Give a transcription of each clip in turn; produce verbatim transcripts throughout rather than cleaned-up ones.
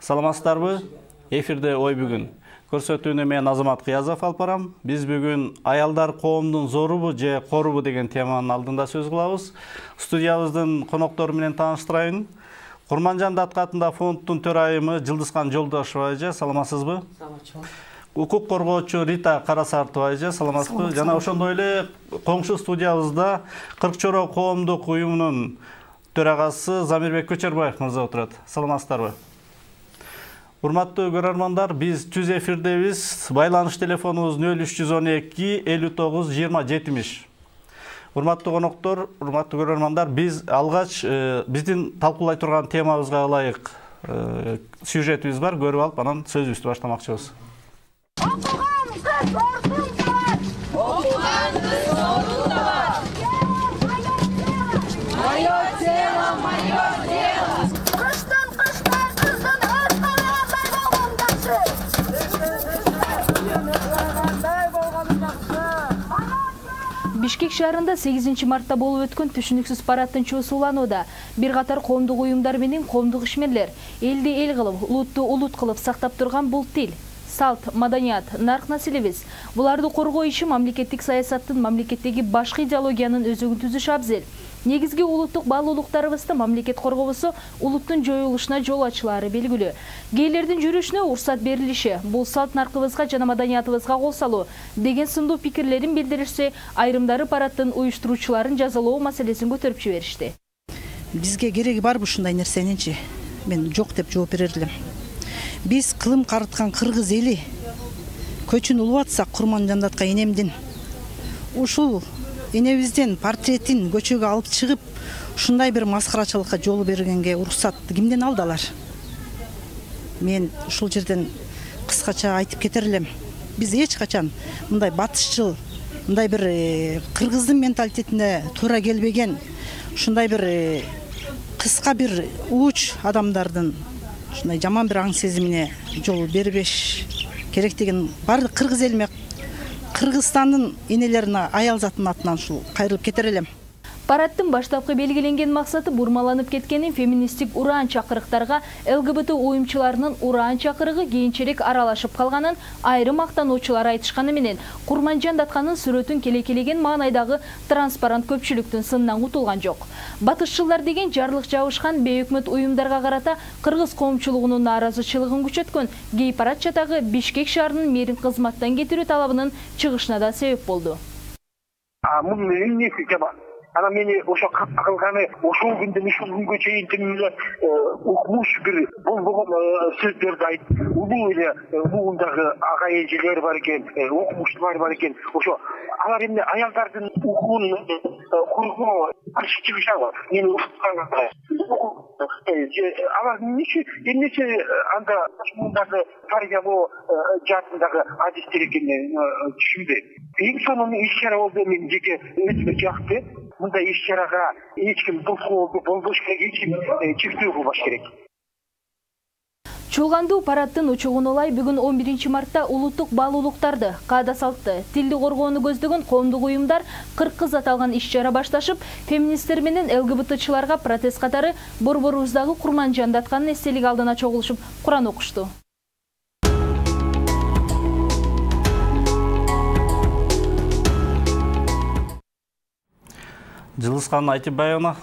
Саламатсыздарбы? Эфирде ой бүгүн. Көрсөтүүнү мен Азамат Кыязов алып барам. Биз бүгүн аялдар коомдун зорубу же корубу деген теманын алдында сөз кылабыз. Студиябыздын коноктору менен тааныштырайын. Курманжан Даткатында фонддун төрайымы Жылдызкан Жолдошова эже, саламатсызбы? Саламатчылык. Укук коргоочу Рита Карасартова эже, саламатсызбы? Жана ошондой эле коңшу студиябызда кырк чоро коомдук уюмунун төрагасы Замирбек Көчөрбаев мырза отурат. Саламатсыздарбы? Урматтуу көрөрмандар, биз түз эфирдебиз. Байланыш телефонубуз нөл үч жүз он эки элүү тогуз жыйырма жетимиш. Урматтуу коноктор, урматтуу көрөрмандар, биз алгач биздин талкуулай турган темабызга ылайык сюжетибиз бар. Көрүп алып, анан сөзүбүздү баштамакчыбыз. Окуган кыз ордунда бар. Окуган кыз ордунда бар. Моё дело, моё дело. Кыштын кыштай кыздын өз калгандай болгондакчы. Бишкек шаарында сегизинчи мартта болуп өткөн түшүнүксүз парадтын чуусу уланууда. Бир катар коомдук уюмдар менен коомдук ишмерлер элди эл кылып, улутту улут кылып сактап турган бул тил, салт, маданият, нарк населебиз. Буларды коргоо иши мамлекеттик саясаттын, мамлекеттеги башкы идеологиянын өзөгүн түзүш абзел. Негизги улуттук баалуулуктарыбызды мамлекет коргобосо улуттун жоюлушуна жол ачылары белгилүү. Гейлердин жүрүшүнө уруксат берилиши, бул салт наркыбызга жана маданиятыбызга кол салуу деген сындуу пикирлерин билдиришсе, айрымдары парадтын уюштуруучуларын жазалоо маселесин көтөрүп жиберишти. Бизге кереги барбы ушундай нерсенинчи? Мен жок деп жооп берер элем. Биз кылым карыткан кыргыз эли көчүн улубатсак Курманжан Датка энемдин ушул энебиздин портретин көчөгө алып чыгып, ушундай бир маскарачылыкка жол бергенге уруксатты кимден алдылар? Мен ушул жерден кыскача айтып кетер элем. Биз эч качан мындай батышчыл, мындай бир кыргыздын менталитетине туура келбеген, ушундай бир кыска бир ууч адамдардын ушундай жаман бир аң сезимине жол бербеш керек деген баардык кыргыз элиме, Кыргызстандын энелерине аял затынын атынан ушул кайрылып кетер элем. Парадтын баштапкы белгиленген максаты бурмаланып кеткенин феминисттик ураан чакырыктарга эл гэ бэ тэ уюмчуларынын ураан чакырыгы кийинчерээк аралашып калганын айрым мактануучулар айтышканы менен Курманжан Датканын сүрөтүн келекелеген маанайдагы транспарант көпчүлүктүн сынынан кутулган жок. Батышчылар деген жарлык жабышкан бейөкмөт уюмдарга карата кыргыз коомчулугунун нааразычылыгын күчөткөн гей парад чатагы Бишкек шаарынын мэрин кызматтан кетирүү талабынын чыгышына да себеп болду. Ана мени ошо кылганы ошол күндөн ушул күнгө чейин тим эле укмуш бир болгон сөздөрдү айтып, улуу эле муундагы ага эжелер бар экен, окумуштуулар бар экен. Ошо алар эмне аялдардын укугун коргоо каршы чыгышабы? Мени укутканга алар эмнече эмнече анда муундагы тарбиялоо жаатындагы адистер экенин түшүнбөйм. Эң сонун иш чара болду, мен жеке өзүмө жакты. Мындай иш чарага эч ким тоскоол болбош керек, эч ким чектөө кылбаш керек. Чуулгандуу парадтын учугун улай бүгүн он биринчи мартта улуттук баалуулуктарды, каада салтты, тилди коргоону көздөгөн коомдук уюмдар кырк кыз аталган иш чара башташып, феминисттер менен эл гэ бэ тэ-чыларга протест катары борборубуздагы Курманжан Датканын эстелиги алдына чогулушуп, Куран окушту. Жылдызкан Айтибаевна,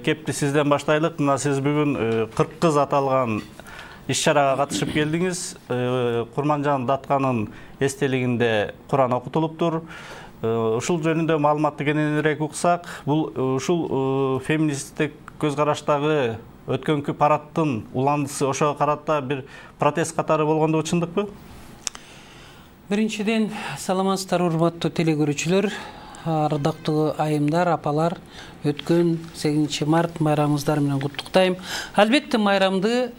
кепти сизден баштайлык. Мына сиз бүгүн кырк кыз аталган иш чарага катышып келдиңиз. Курманжан Датканын эстелигинде Куран окутулуптур. Ушул жөнүндө маалыматты кененирээк уксак, бул ушул феминисттик көз караштагы өткөнкү парадтын уландысы ошого карата бир протест катары болгондугу чындыкпы? Биринчиден, саламатсыздар урматтуу телекөрүүчүлөр. Ардактуу айымдар, апалар, өткөн сегизинчи март майрамыңыздар менен куттуктайм. Албетте майрамды,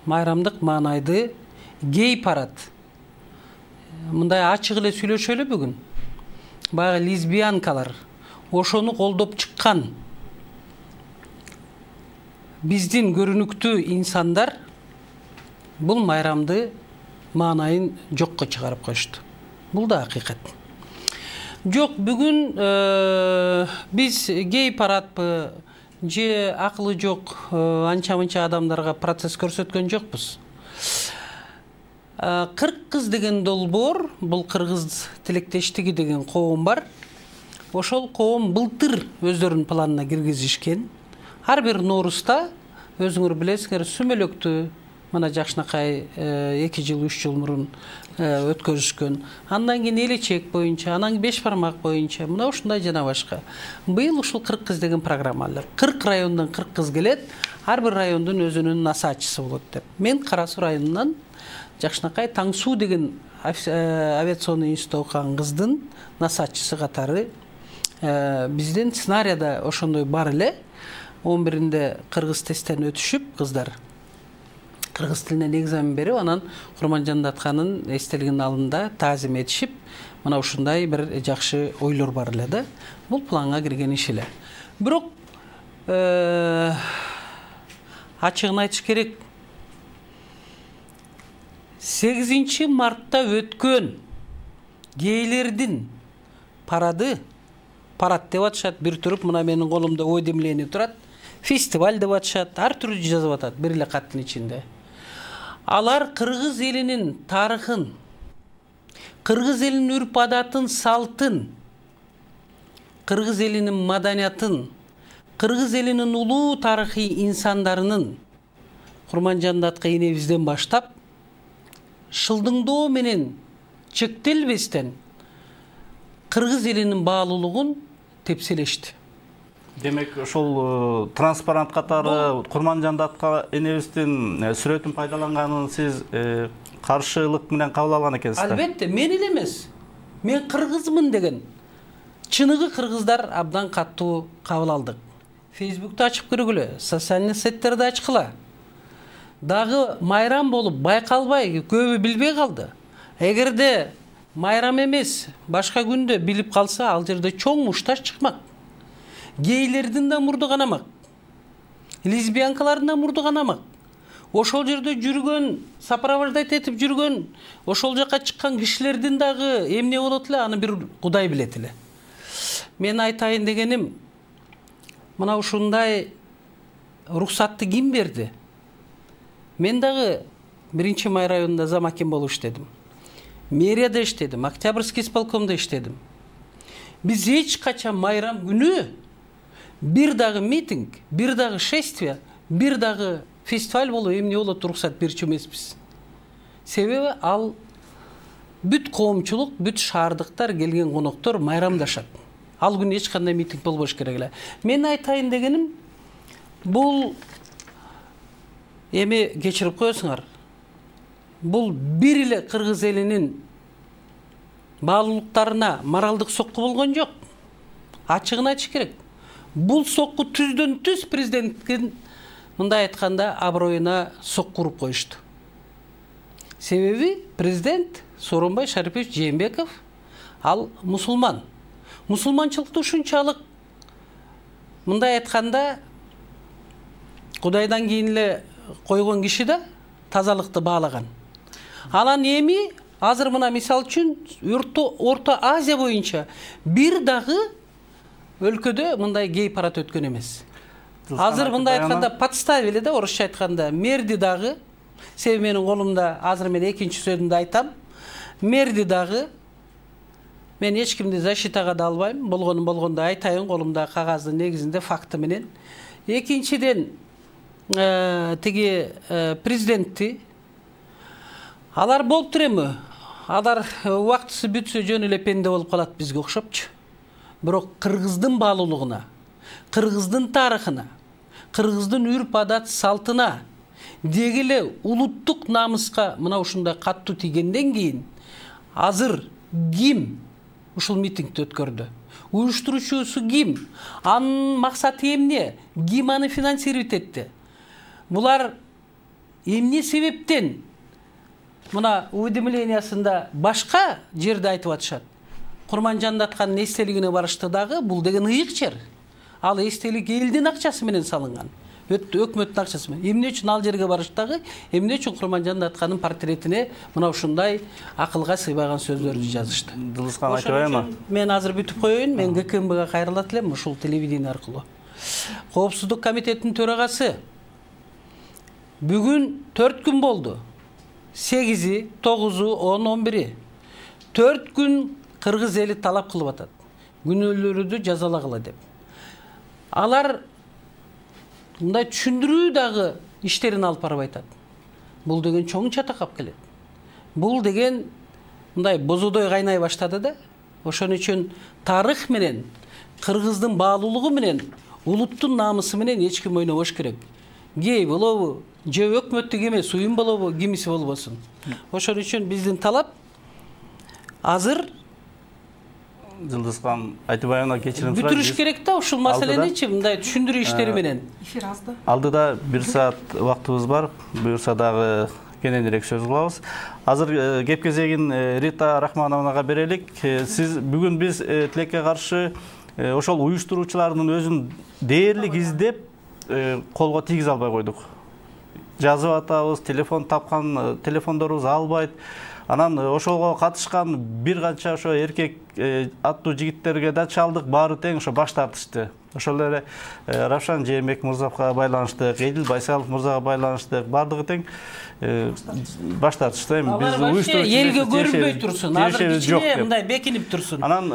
майрамдык маанайды гей парад. Мындай ачык эле сүйлөшөлү бүгүн. Баягы лесбиянкалар ошону колдоп чыккан биздин көрүнүктүү инсандар бул майрамды маанайын жокко чыгарып коюшту. Бул да акыйкат. Жок, бүгүн биз гей парадпы, же акылы жок анча мынча адамдарга процесс көрсөткөн жокпуз. кырк кыз деген долбоор, бул кыргыз тилектештиги деген коом бар. Ошол коом былтыр өздөрүнүн планына киргизишкен. Ар бир Ноорузда өзүңөр билесиңер сүмөлөктү мына жакшынакай эки жыл үч жыл мурун өткөрүшкөн. Андан кийин элечек боюнча, анан беш бармак боюнча, мына ушундай жана башка. Быйыл ушул кырк кыз деген программа алып, кырк райондон кырк кыз келет, ар бир райондун өзүнүн насаатчысы болот деп. Мен Кара Суу районунан жакшынакай Таң Суу деген авиационный институтта окуган кыздын насаатчысы катары бизден сценарийда ошондой бар эле. он биринде кыргыз тесттен өтүшүп кыздар кыргыз тилинен экзамен берип, анан Курманжан Датканын эстелигинин алдында таазим этишип, мына ушундай бир жакшы ойлор бар эле да. Бул планга кирген иш эле. Бирок ачыгын айтыш керек, сегизинчи мартта өткөн гейлердин парады, парад деп атышат, бир туруп мына менин колумда уведомление турат, фестиваль деп атышат, ар түрдүү жазып атат бир эле каттын ичинде. Алар кыргыз элинин тарыхын, кыргыз элинин үрп адатын, салтын, кыргыз элинин маданиятын, кыргыз элинин улуу тарыхый инсандарынын Курманжан Датка энебизден баштап шылдыңдоо менен чектелбестен кыргыз элинин баалуулугун тепселешти. Демек, ошол транспарант катары Курманжан Датка энебиздин сүрөтүн пайдаланганын сиз каршылык менен кабыл алган экенсиз. Албетте, мен эле эмес. Мен кыргызмын деген чыныгы кыргыздар абдан каттуу кабыл алдык. Фейсбукту ачып көргүлө, социальный сеттерди ачкыла. Дагы майрам болуп байкалбай, көбү билбей калды. Эгерде майрам эмес, башка күндө билип калса, ал жерде чоң мушташ чыкмак. Гейлердин да мурду канамак. Лесбиянкалардын да мурду канамак. Ошол жерде жүргөн, сопровождать этип жүргөн, ошол жака чыккан кишилердин дагы эмне болот эле, аны бир Кудай билет эле. Мен айтайын дегеним, мына ушундай уруксатты ким берди? Мен дагы биринчи май районунда зам аким болуп иштедим. Мэрияда иштедим, Октябрьский исполкомдо иштедим. Биз эч качан майрам күнү бир дагы митинг, бир дагы шествие, бир дагы фестиваль болуп эмне болот уруксат берчү эмеспиз. Себеби ал бүт коомчулук, бүт шаардыктар, келген коноктор майрамдашат. Ал күнү эч кандай митинг болбош керек эле. Мен айтайын дегеним, бул эми кечирип коесуңар. Бул бир эле кыргыз элинин баалуулуктарына моралдык сокку болгон жок. Ачыгын айтыш керек. Бул сокку түздөн түз президенттин мындай айтканда аброюна сокку уруп коюшту. Себеби президент Сооронбай Шарипович Жээнбеков ал мусулман. Мусулманчылыкты ушунчалык мындай айтканда Кудайдан кийин эле койгон киши да тазалыкты баалаган. Анан эми азыр мына мисал үчүн Орто Азия боюнча бир дагы өлкөдө мындай гей парад өткөн эмес. Азыр мындай айтканда подставили да, орусча айтканда, мерди дагы, себеби менин колумда азыр мен экинчи сөзүмдү айтам. Мерди дагы мен эч кимди защитага да албайм, болгонун болгондо айтайын, колумда кагаздын негизинде факты менен. Экинчиден тиги президентти алар болуп турэмү? Алар убактысы бүтсө жөн эле пенде болуп калат бизге окшопчу. Бирок кыргыздын баалуулугуна, кыргыздын тарыхына, кыргыздын үрп адат салтына, деги эле улуттук намыска мына ушундай каттуу тийгенден кийин азыр ким ушул митингди өткөрдү? Уюштуруучусу ким? Анын максаты эмне? Ким аны финансировать этти? Булар эмне себептен мына уведомлениясында башка жерде айтып атышат? Курманжан Датканын эстелигине барышты дагы, бул деген ыйык жер. Ал эстелик элдин акчасы менен салынган. Өкмөттүн акчасы менен. Эмне үчүн ал жерге барыштагы? Эмне үчүн Курманжан Датканын портретине мына ушундай акылга сыйбаган сөздөрдү жазышты? Дылыскан айтып атпайбы? Мен азыр бүтүп коеюн, мен ГКМБга кайрылат элем ушул телевидение аркылуу. Коопсуздук комитетинин төрагасы бүгүн төрт күн болду. сегизи, тогузу, он, он бiri. төрт күн кыргыз эли талап кылып атат. Күнөөлөрдү жазалагыла деп. Алар мындай түшүндүрүү дагы иштерин алып барып айтат. Бул деген чоң чатакап келет. Бул деген мындай бозодой кайнай баштады да. Ошон үчүн тарых менен, кыргыздын баалуулугу менен, улуттун намысы менен эч ким ойнобош керек. Гей болобу, же өкмөттүк эмес уюм болобу, кимиси болбосун. Ошон үчүн биздин талап азыр Жылдызхан Айтыбаевна кечирим сурайт. Бүтүрүш керек да ушул маселеничи мындай түшүндүрүү иштери менен. Эфир азды. Алдыда бир саат убактыбыз бар. Буюрса дагы кененирээк сөз кылабыз. Азыр кеп кезегин Рита Рахмановнага берелик. Сиз бүгүн биз тилекке каршы ошол уюштуруучулардын өзүн дээрлик издеп колго тийгизе албай койдук. Жазып атабыз, телефон тапкан телефондорубуз албайт. Анан ошого катышкан бир канча ошо эркек аттуу жигиттерге да чалдык, баары тең ошо баш тартышты. Ошол эле Равшан Жээнбек мырзага байланыштык, Эдил Байсалов мырзага байланыштык, баардыгы тең баш тартышты. Эми биз уюштуруп элге көрүнбөй турсун, азыр кичине мындай бекинип турсун. Анан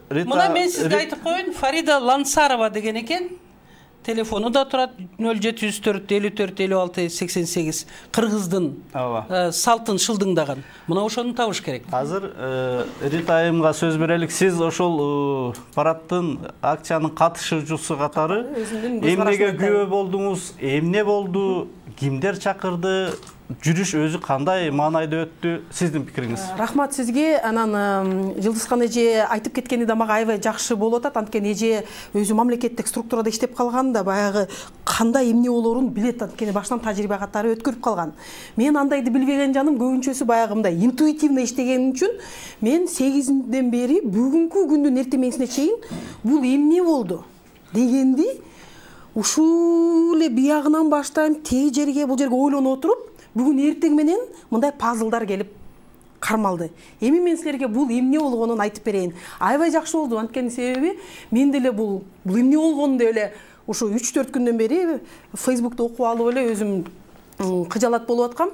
Рита Мына мен сизге айтып коеюн, Фарида Лансарова деген экен. Телефону да турат нөл жети жүз төрт элүү төрт элүү алты сексен сегиз. Кыргыздын салтын шылдыңдаган. Мына ошону табыш керек. Азыр Рита айымга сөз берелик. Сиз ошол парадтын акциянын катышуучусу катары эмнеге күбө болдуңуз? Эмне болду? Кимдер чакырды? Жүрүш өзү кандай маанайда өттү? Сиздин пикириңиз? Рахмат сизге. Анан Жылдызхан эже айтып кеткени да мага аябай жакшы болуп атат. Анткени эже өзү мамлекеттик структурада иштеп калган да баягы кандай эмне болоорун билет. Анткени баштан тажрыйба катары өткөрүп калган. Мен андайды билбеген жаным көбүнчөсү баягы мындай интуитивно иштегеним үчүн мен сегизинден бери бүгүнкү күндүн эртемесине чейин бул эмне болду дегенди ушул эле биягынан баштайм теги жерге бул жерге ойлонуп отуруп бүгүн эртең менен мындай пазлдар келип кармалды. Эми мен силерге бул эмне болгонун айтып берейин. Аябай жакшы болду. Анткени себеби мен деле бул бул эмне болгонун деп эле ушу үч төрт күндөн бери Фейсбукта окуп алып эле өзүм кыжалат болуп аткам.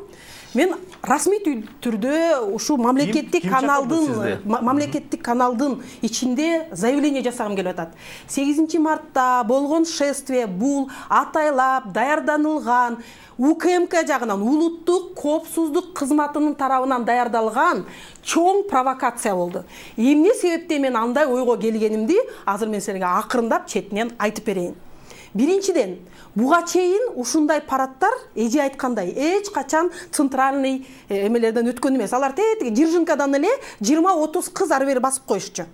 Мен расмий түрдө ушу мамлекеттик каналдын мамлекеттик каналдын ичинде заявление жасагым келип атат. сегизинчи мартта болгон шествие бул атайлап даярданылган УКМК жагынан улуттук коопсуздук кызматынын тарабынан даярдалган чоң провокация болду. Эмне себептен мен андай ойго келгенимди азыр мен силерге акырындап четинен айтып берейин. Биринчиден, буга чейин ушундай парадтар эже айткандай эч качан центральный эмелерден өткөн эмес. Алар тетиги Жиржинкадан эле жыйырма отуз кыз ары бери басып коюшчу.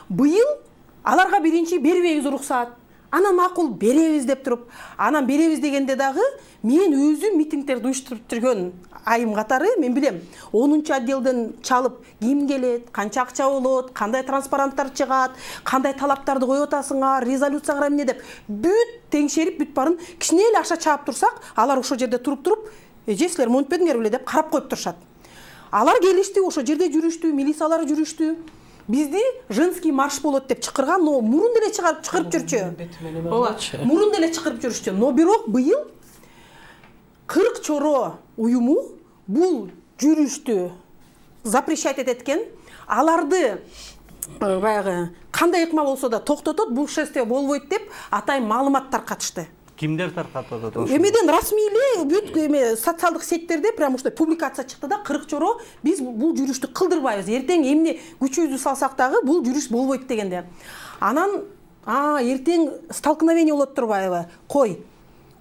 Быйыл аларга биринчи бербейбиз уруксаат. Анан макул беребиз деп туруп, анан беребиз дегенде дагы мен өзүм митингдерди уюштуруп жүргөн айым катары мен билем. онунчу отделден чалып ким келет, канча акча болот, кандай транспаранттар чыгат, кандай талаптарды коюп атасыңар, резолюцияга эмне деп бүт теңшерип бүт барын кичине эле акча чаап турсак, алар ошол жерде туруп-туруп, эже силер монтпедиңер беле деп карап коюп турушат. Алар келишти, ошол жерде жүрүштү, милициялар жүрүштү. Бизди женский марш болот деп чакырган, но мурун деле чыгарып чакырып жүрчү. Ооба, мурун деле чакырып жүрүштү. Но бирок быйыл кырк чоро уюму бул жүрүштү запрещать этет экен. Аларды баягы кандай ыкма болсо да токтотот, бул шествие болбойт деп атайын маалыматтар катышты. Кимдер таркатып атат? Эмеден расмий эле бүт эме социалдык сеттерде прям ушундай публикация чыкты да, кырк чоро биз бул жүрүштү кылдырбайбыз. Эртең эмне күчүбүздү салсак дагы бул жүрүш болбойт дегенде. Анан а эртең столкновение болот турбайбы? Кой.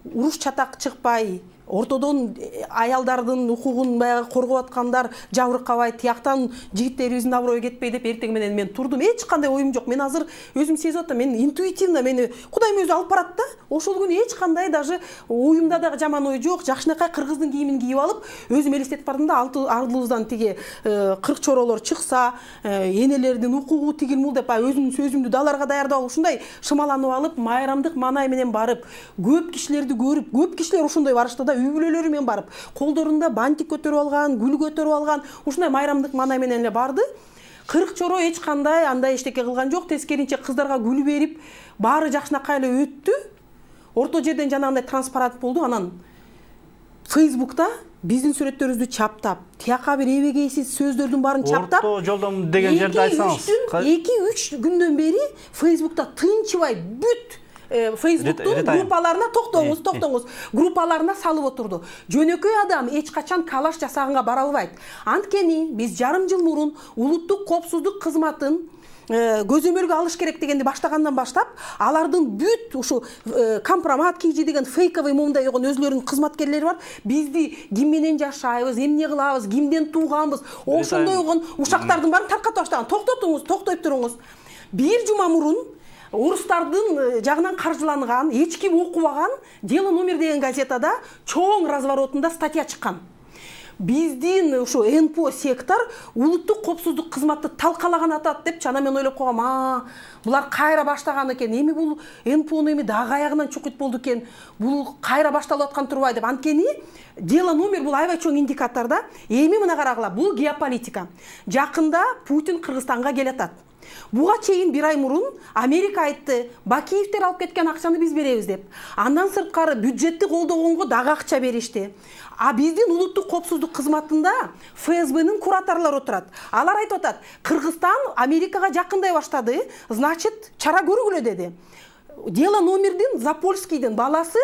Уруш чатак чыкпай, ортодон аялдардын укугун баягы коргоп аткандар жабыркабай, тияктан жигиттерибиздин аброю кетпей деп эртең менен мен турдум. Эч кандай оюм жок. Мен азыр өзүм сезип атам. Мен интуитивно мени Кудайым өзү алып барат да. Ошол күнү эч кандай даже оюмда дагы жаман ой жок. Жакшынакай кыргыздын кийимин кийип алып, өзүм элестетип бардым да, алты ардыбыздан тиги кырк чоролор чыкса, энелердин укугу тигилмул деп өзүмдүн сөзүмдү даларга даярдап алып, ушундай шымаланып алып, майрамдык маанай менен барып, көп кишилерди көрүп, көп кишилер ошондой барышты да, үй бүлөлөрү менен барып, колдорунда бантик көтөрүп алган, гүл көтөрүп алган, ушундай майрамдык маанай менен эле барды. кырк чоро эч кандай андай эчтеке кылган жок, тескеринче кыздарга гүл берип, баары жакшынакай эле өттү. Орто жерден жанагындай транспарант болду. Анан Фейсбукта биздин сүрөттөрүбүздү чаптап, тияка бир эбегейсиз сөздөрдүн баарын чаптап, орто жолдон деген жерде айтсаңыз. эки үч күндөн бери Фейсбукта тынчыбай бүт Фейсбуктун группаларына токтоңуз, токтоңуз, группаларына салып отурду. Жөнөкөй адам эч качан калаш жасаганга бара албайт. Анткени биз жарым жыл мурун улуттук коопсуздук кызматын көзөмөлгө алыш керек дегенди баштагандан баштап, алардын бүт ушу компромат кийжи деген фейковый момундай койгон өзлөрүнүн кызматкерлери бар. Бизди ким менен жашайбыз, эмне кылабыз, кимден тууганбыз, ошондой койгон ушактардын баарын тарката баштаган. Токтотуңуз, токтой туруңуз. Бир жума мурун орустардын жагынан каржыланган, эч ким окубаган «Дело номер» деген газетада чоң разворотунда статья чыккан. Биздин ушу эн пэ о сектор улуттук коопсуздук кызматты талкалаган атат деп, чана мен ойлоп койгом, а булар кайра баштаган экен. Эми бул эн пэ ону эми дагы аягынан чукут болду экен. Бул кайра башталып аткан турбайбы деп. Анткени «Дело номер» бул аябай чоң индикатор да. Эми мына карагыла, бул геополитика. Жакында Путин Кыргызстанга келатат. Буга чейин бир ай мурун Америка айтты, Бакиевдер алып кеткен акчаны биз беребиз деп. Андан сырткары бюджетти колдогонго дагы акча беришти. А биздин улуттук коопсуздук кызматында эф эс бнын кураторлору отурат. Алар айтып атат, Кыргызстан Америкага жакындай баштады, значит, чара көргүлө деди. «Дело номердин» Запольскийдин баласы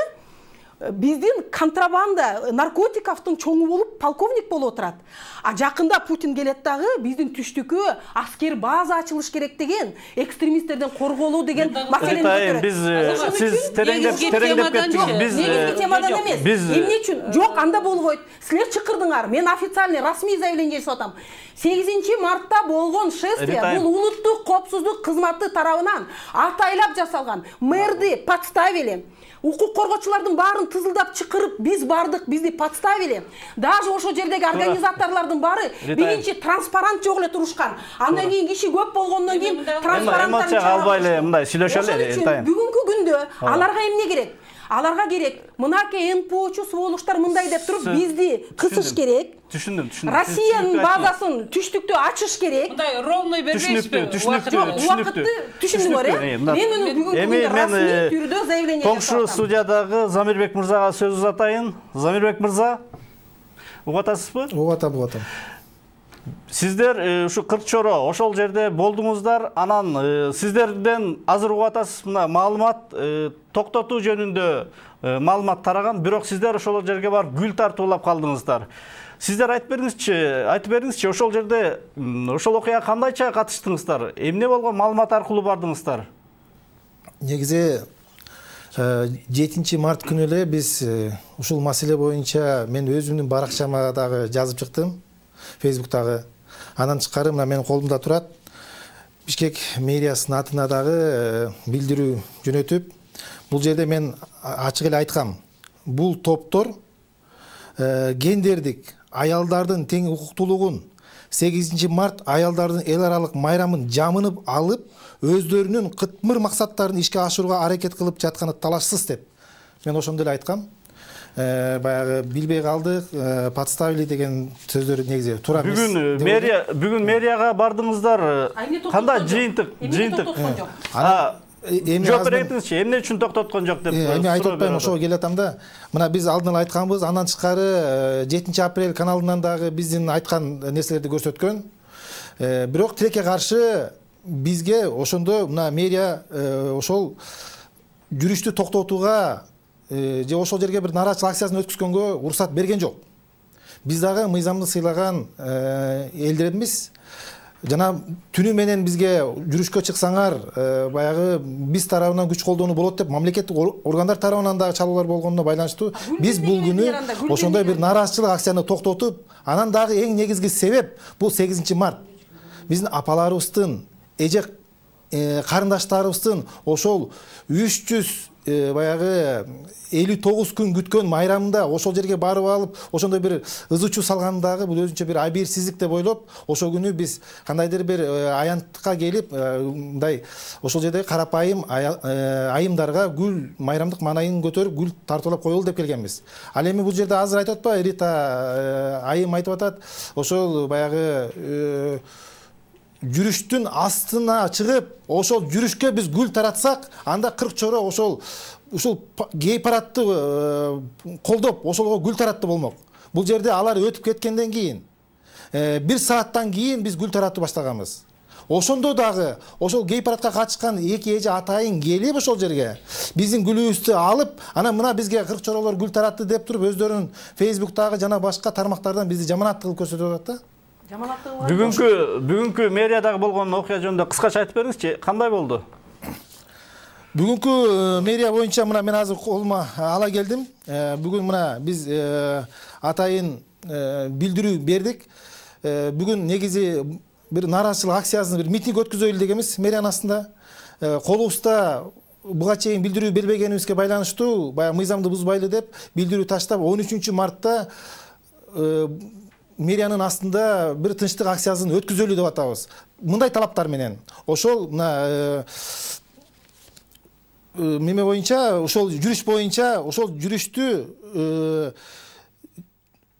биздин контрабанда наркотиковдун чоңу болуп полковник болуп отурат. А жакында Путин келет дагы биздин түштүккө аскер база ачылыш керек деген, экстремисттерден корголуу деген маселени көтөрөт. Биз сиз тереңдеп тереңдеп кеттиңиз. Биз негизги темадан эмес. Эмне үчүн? Жок, анда болбойт. Силер чыкырдыңар. Мен официальный, расмий заявление жасап атам. сегизинчи мартта болгон шествие бул улуттук коопсуздук кызматы тарабынан атайлап жасалган. Мэрди подставили. Укук коргоочулардын баарын тызылдап чыкырып, биз бардык, бизди подставили. Даже ошо жердеги организаторлордун баары биринчи транспарант жок эле турушкан. Андан кийин киши көп болгондон кийин транспаранттарды чыгарып албай эле мындай сүйлөшөлү. Бүгүнкү күндө аларга эмне керек? Аларга керек, мынаке эн пэ очу сволуштар мындай деп туруп бизди кысыш керек. Түшүндүм, түшүндүм. Россиянын базасын түштүктө ачыш керек. Мындай ровный бербейсизби? Түшүнүктүү, түшүнүктүү. Түшүндүңөр, э? Мен муну бүгүнкү күндө расмий түрдө заявление жасап атам. Коңшу студиядагы Замирбек мырзага сөз узатайын. Замирбек мырза, угуп атасызбы? Угуп атам, угуп атам. Сиздер ушу кырк чоро ошол жерде болдуңуздар. Анан сиздерден азыр угуп атасыз, мына маалымат токтотуу жөнүндө маалымат тараган, бирок сиздер ошол жерге барып гүл тартуулап калдыңыздар. Сиздер айтып бериңизчи, айтып бериңизчи, ошол жерде ошол окуяга кандайча катыштыңыздар? Эмне болгон маалымат аркылуу бардыңыздар? Негизи жетинчи март күнү эле биз ушул маселе боюнча мен өзүмдүн баракчама дагы жазып чыктым, Фейсбуктагы. Анан тышкары мына менин колумда турат. Бишкек мэриясынын атына дагы билдирүү жөнөтүп, бул жерде мен ачык эле айткам. Бул топтор гендердик аялдардын тең укуктуулугун сегизинчи март аялдардын эл аралык майрамын жамынып алып, өздөрүнүн кытмыр максаттарын ишке ашырууга аракет кылып жатканы талашсыз деп мен ошондой эле айткам. Баягы билбей калдык, подставили деген сөздөр негизи туура эмес. Бүгүн мэрия бүгүн мэрияга бардыңыздар. Кандай жыйынтык, жыйынтык. Эми жооп бериңизчи, эмне үчүн токтоткон жок деп. Эми айтып атпайм, ошого келатам да. Мына биз алдын ала айтканбыз, андан тышкары жетинчи апрель каналынан дагы биздин айткан нерселерди көрсөткөн. Бирок тилекке каршы бизге ошондо мына мэрия ошол жүрүштү токтотууга же ошол жерге бир нааразычылык акциясын өткүзгөнгө уруксат берген жок. Биз дагы мыйзамды сыйлаган элдербиз. Жана түнү менен бизге жүрүшкө чыксаңар, баягы биз тарабынан күч колдонуу болот деп мамлекеттик органдар тарабынан дагы чалуулар болгонуна байланыштуу биз бул күнү ошондой бир нааразычылык акцияны токтотуп, анан дагы эң негизги себеп бул сегизинчи март. Биздин апаларыбыздын, эже карындаштарыбыздын ошол үч жүз баягы элүү тогуз күн күткөн майрамында ошол жерге барып алып, ошондой бир ызы чуу салгандагы бул өзүнчө бир абийирсиздик деп ойлоп, ошол күнү биз кандайдыр бир аянттыкка келип, мындай ошол жердеги карапайым айымдарга гүл, майрамдык маанайын көтөрүп гүл тартуулап коелу деп келгенбиз. Ал эми бул жерде азыр айтып атпайбы, Рита айым айтып атат, ошол баягы жүрүштүн астына чыгып, ошол жүрүшкө биз гүл таратсак, анда кырк чоро ошол ушул гей парадты колдоп, ошолго гүл таратты болмок. Бул жерде алар өтүп кеткенден кийин бир сааттан кийин биз гүл таратып баштаганбыз. Ошондо дагы ошол гей парадка катышкан эки эже атайын келип ошол жерге биздин гүлүбүздү алып, анан мына бизге кырк чоролор гүл таратты деп туруп өздөрүнүн Facebook'тагы жана башка тармактардан бизди жаманаттуу кылып көрсөтүп атат да. Бүгүнкү бүгүнкү мэриядагы болгон окуя жөнүндө кыскача айтып бериңизчи, кандай болду? Бүгүнкү мэрия боюнча мына мен азыр колума ала келдим. Бүгүн мына биз атайын билдирүү бердик. Бүгүн негизи бир нааразычылык акциясын, бир митинг өткөзөлү дегенбиз мэриянын астында. Колубузда буга чейин билдирүү бербегенибизге байланыштуу, баягы мыйзамды бузбайлы деп билдирүү таштап, он үчүнчү мартта мэриянын астында бир тынчтык акциясын өткөзөлү деп атабыз. Мындай талаптар менен. Ошол мына меме боюнча, ошол жүрүш боюнча, ошол жүрүштү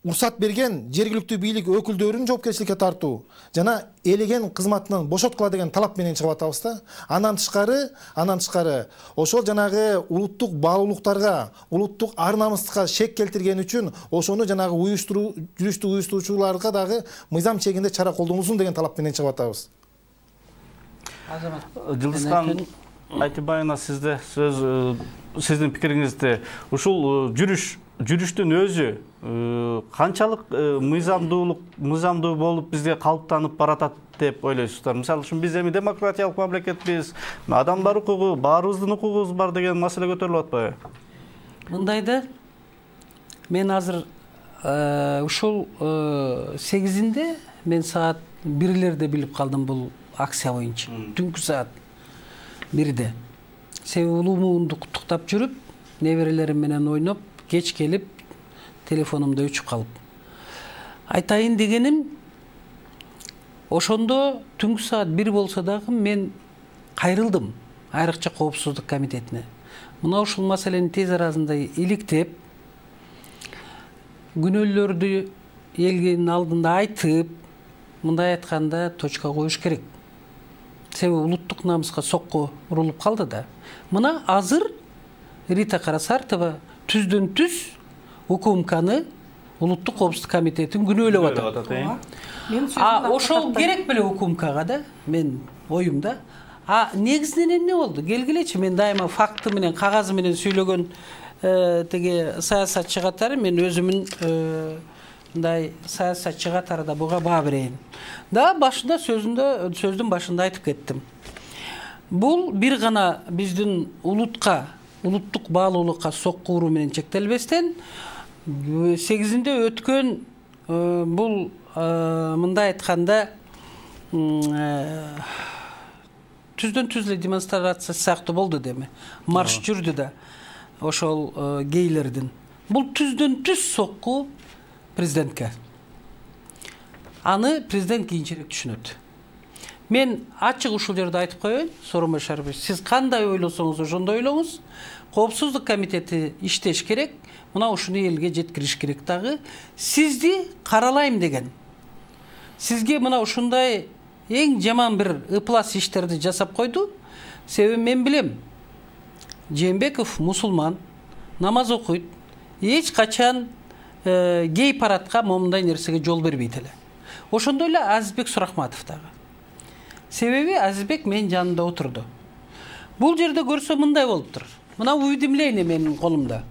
уруксат берген жергиликтүү бийлик өкүлдөрүн жоопкерчиликке тартуу жана элеген кызматынан бошоткула деген талап менен чыгып атабыз да. Андан тышкары, андан тышкары ошол жанагы улуттук баалуулуктарга, улуттук ар намыска шек келтирген үчүн ошону жанагы уюштуруу, жүрүштү уюштуруучуларга дагы мыйзам чегинде чара колдонулсун деген талап менен чыгып атабыз. Жылдызхан Айтыбайына сизде сөз, сиздин пикириңизди, ушул жүрүш жүрүштүн өзү канчалык мыйзамдуулук мыйзамдуу болуп бизге калыптанып баратат деп ойлойсуздар? Мисалы үчүн биз эми демократиялык мамлекетпиз, адамдар укугу, баарыбыздын укугубуз бар деген маселе көтөрүлүп атпайбы? Мындайда мен азыр ушул сегизинде мен саат бирлерде билип калдым бул акция боюнча. Түнкү саат бирде. Себеби улуумду куттуктап жүрүп, неберелерим менен ойноп, кеч келип телефонумда өчүп калып. Айтайын дегеним, ошондо түнкү саат бир болсо дагы мен кайрылдым айрыкча коопсуздук комитетине. Мына ушул маселени тез арасында иликтеп, күнөөлөрдү элдин алдында айтып, мындай айтканда точка коюш керек. Себеби улуттук намыска сокко урулуп калды да. Мына азыр Рита Карасартова түздөн түз УКМКны, улуттук коопсуздук комитетин күнөөлөп атат. А ошол керек беле УКМКга да, мен оюмда. А негизинен эмне болду? Келгилечи, мен дайыма факты менен, кагазы менен сөйлөгөн теге саясатчы катары, мен өзүмүн мындай саясатчы катарында буга баа берейин. Да, башында сөзүндө, сөздүн башында айтып кеттим. Бул бир гана биздин улутка, улуттук баалуулукка сокку уруу менен чектелбестен, сегизинде өткөн бул мындай айтканда түздөн түз эле демонстрация сыяктуу болду деме. Марш жүрдү да ошол гейлердин. Бул түздөн түз сокку президентке. Аны президент кийинчерээк түшүнөт. Мен ачык ушул жерде айтып коеюн, Сооронбай Шарипов, сиз кандай ойлосоңуз ошондой ойлоңуз. Коопсуздук комитети иштеш керек, мына ушуну элге жеткириш керек дагы. Сизди каралайм деген. Сизге мына ушундай эң жаман бир ыплас иштерди жасап койду. Себеби мен билем, Жээнбеков мусулман, намаз окуйт, эч качан гей парадка момундай нерсеге жол бербейт эле. Ошондой эле Азизбек Сурахматов дагы. Себеби Азизбек менин жанымда отурду. Бул жерде көрсө мындай болуптур. Мына уведомление менин колумда.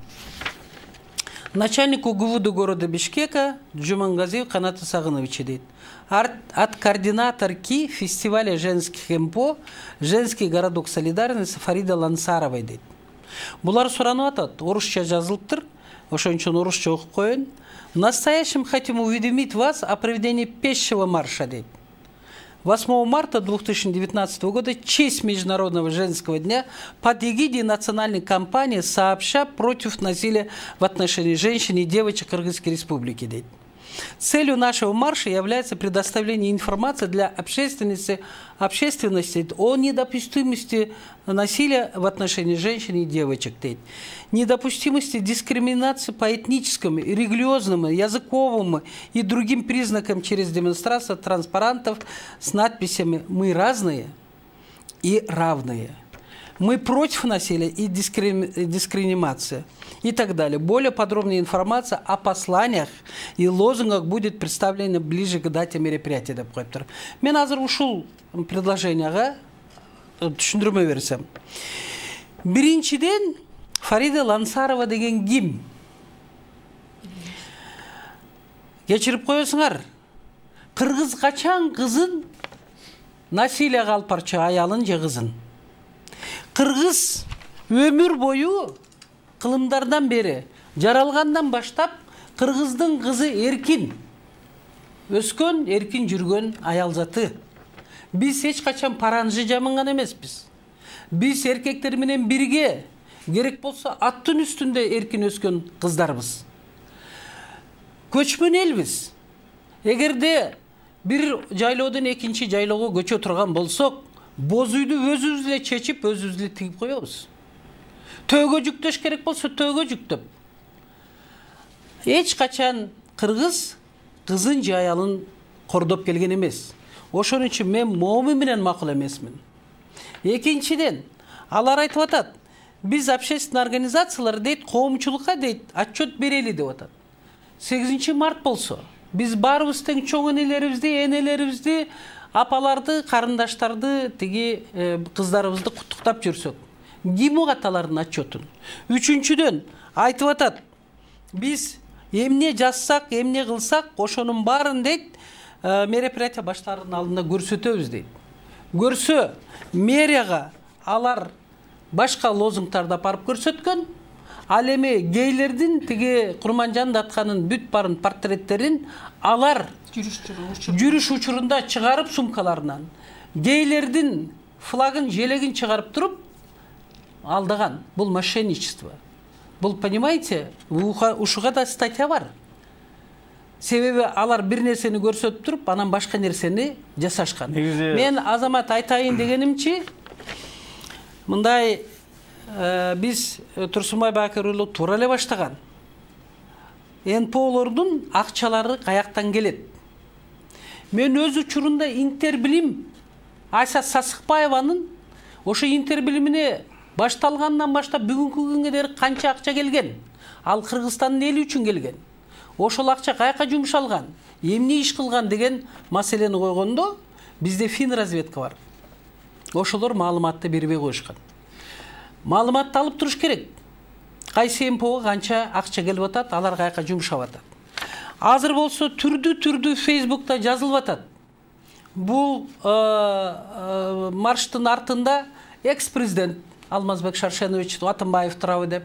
Начальнику ГУВД города Бишкека Джумангазиев Канат Сагынович дейт. От координаторки фестиваля женских МПО «Женский городок солидарности» Фарида Лансаровой дейт. Булар суранып атат, орусча жазылыптыр. Ошон үчүн орусча окуп коеюн. В настоящем хотим уведомить вас о проведении пешего марша дейт. восьмого марта две тысячи девятнадцатого года в честь Международного женского дня под эгидой национальной кампании «Сообща против насилия в отношении женщин и девочек Кыргызской республики». Целью нашего марша является предоставление информации для общественности, общественности о недопустимости насилия в отношении женщин и девочек, недопустимости дискриминации по этническому, религиозному, языковому и другим признакам через демонстрацию транспарантов с надписями «Мы разные и равные». Мы против насилия и дискриминации и так далее. Более подробная информация о посланиях и лозунгах будет представлена ближе к дате мероприятия, деп коюптур. Мен азыр ушул предложенияга түшүндүрмө берсем. Биринчиден, Фарида Лансарова деген ким? Кечирип коесуңар. Кыргыз качан кызын насилияга алып барчу, аялын же кызын? Кыргыз өмүр бою кылымдардан бери, жаралгандан баштап кыргыздын кызы эркин өскөн, эркин жүргөн аял заты. Биз эч качан паранжы жамынган эмеспиз. Биз эркектер менен бирге, керек болсо аттын үстүндө эркин өскөн кыздарбыз. Көчмөн элбиз. Эгерде бир жайлоодон экинчи жайлоого көчө турган болсок, боз үйдү өзүбүз эле чечип, өзүбүз эле тигип коебуз. Төөгө жүктөш керек болсо төөгө жүктөп. Эч качан кыргыз кызын же аялын кордоп келген эмес. Ошон үчүн мен момун менен макул эмесмин. Экинчиден, алар айтып атат, биз общественный организациялар дейт, коомчулукка дейт, отчет берели деп атат. сегизинчи март болсо, биз баарыбыз тең чоң энелерибизди, энелерибизди, апаларды, карындаштарды, тиги кыздарыбызды куттуктап жүрсөк, ким угат алардын отчетун? Үчүнчүдөн айтып атат, биз эмне жазсак, эмне кылсак, ошонун баарын дейт, мероприятие баштарынын алдында көрсөтөбүз дейт. Көрсө, мэрияга алар башка лозунгтарды апарып көрсөткөн, ал эми гейлердин тиги Курманжан Датканын бүт барын портреттерин алар жүрүш учурунда чыгарып сумкаларынан, гейлердин флагын, желегин чыгарып туруп алдаган. Бул мошенничество. Бул, понимаете, ушуга да статья бар. Себеби алар бир нерсени көрсөтүп туруп, анан башка нерсени жасашкан. Мен Азамат айтайын дегенимчи, мындай биз Турсунбай Бакыровду туура эле баштаган. эн пэ олордун акчалары каяктан келет? Мен өз учурунда Интербилим Айса Сасыкбаеванын ошо Интербилимине башталгандан баштап бүгүнкү күнгө дейин канча акча келген? Ал Кыргызстандын эли үчүн келген. Ошол акча каяка жумшалган? Эмне иш кылган деген маселени койгондо, бизде фин разведка бар. Ошолор маалыматты бербей коюшкан. Маалыматты алып туруш керек. Кайсы эн пэ ого канча акча келип атат, алар каяка жумшап атат. Азыр болсо түрдүү-түрдүү Фейсбукта жазылып атат. Бул марштын артында экс-президент Алмазбек Шаршенович Атымбаев турабы деп,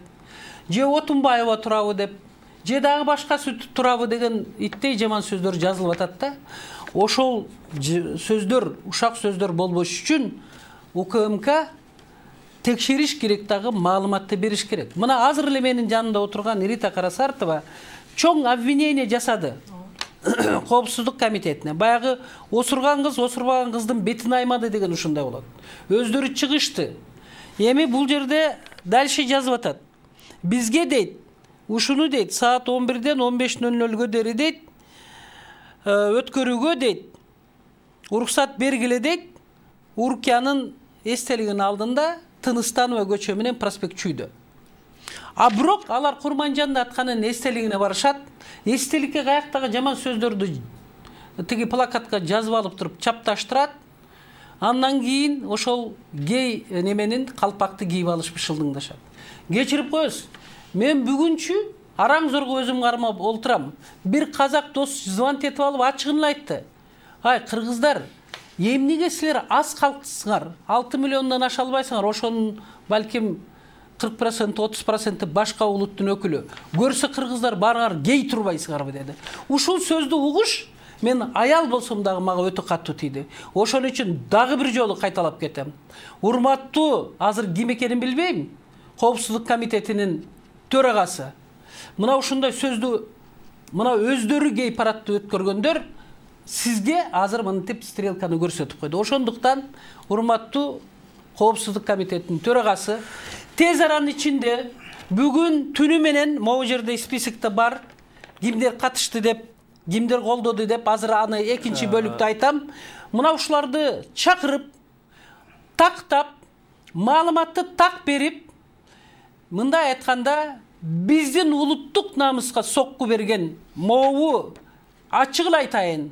же Отунбаева турабы деп, же дагы башкасы турабы деген иттей жаман сөздөр жазылып атат да. Ошол сөздөр, ушак сөздөр болбош үчүн У К М К текшериш керек, дагы маалыматты бериш керек. Мына азыр эле менин жанымда отурган Рита Карасартова чоң обвинение жасады Коопсуздук комитетине. Баягы осурган кыз осурбаган кыздын бетин аймады деген ушундай болот. Өздөрү чыгышты. Эми бул жерде дальше жазып атат. Бизге дейт, ушуну дейт, саат он бирден он беш нөл нөлгө дейин дейт, өткөрүүгө дейт, уруксат бергиле дейт, Уркиянын эстелигинин алдында Тыныстанова көчө менен проспект Чүйдө. А бирок алар Курманжан Датканын эстелигине барышат, эстеликке каяктагы жаман сөздөрдү тиги плакатка жазып алып туруп чапташтырат. Андан кийин ошол гей неменин калпакты кийип алышып шылдыңдашат. Кечирип коесуз. Мен бүгүнчү араң зорго өзүм кармап олтурам. Бир казак дос звонок этип алып ачыгын эле айтты. Ай, кыргыздар, эмнеге силер аз калксыңар? алты миллиондон аша албайсыңар, ошонун балким кырк процент, отуз процент башка улуттун өкүлү. Көрсө кыргыздар барыңар гей турбайсыңарбы деди. Ушул сөздү угуш мен аял болсом дагы мага өтө катуу тийди. Ошон үчүн дагы бир жолу кайталап кетем. Урматтуу, азыр ким экенин билбейм, Коопсуздук комитетинин төрагасы. Мына ушундай сөздү мына өздөрү гей парадты өткөргөндөр сизге азыр мынтип стрелканы көрсөтүп койду. Ошондуктан урматтуу Коопсуздук комитетинин төрагасы тез аранын ичинде бүгүн түнү менен могу жерде списокто бар, кимдер катышты деп, кимдер колдоду деп, азыр аны экинчи бөлүктө айтам. Мына ушуларды чакырып, тактап, маалыматты так берип, мындай айтканда биздин улуттук намыска сокку берген могу ачык эле айтайын,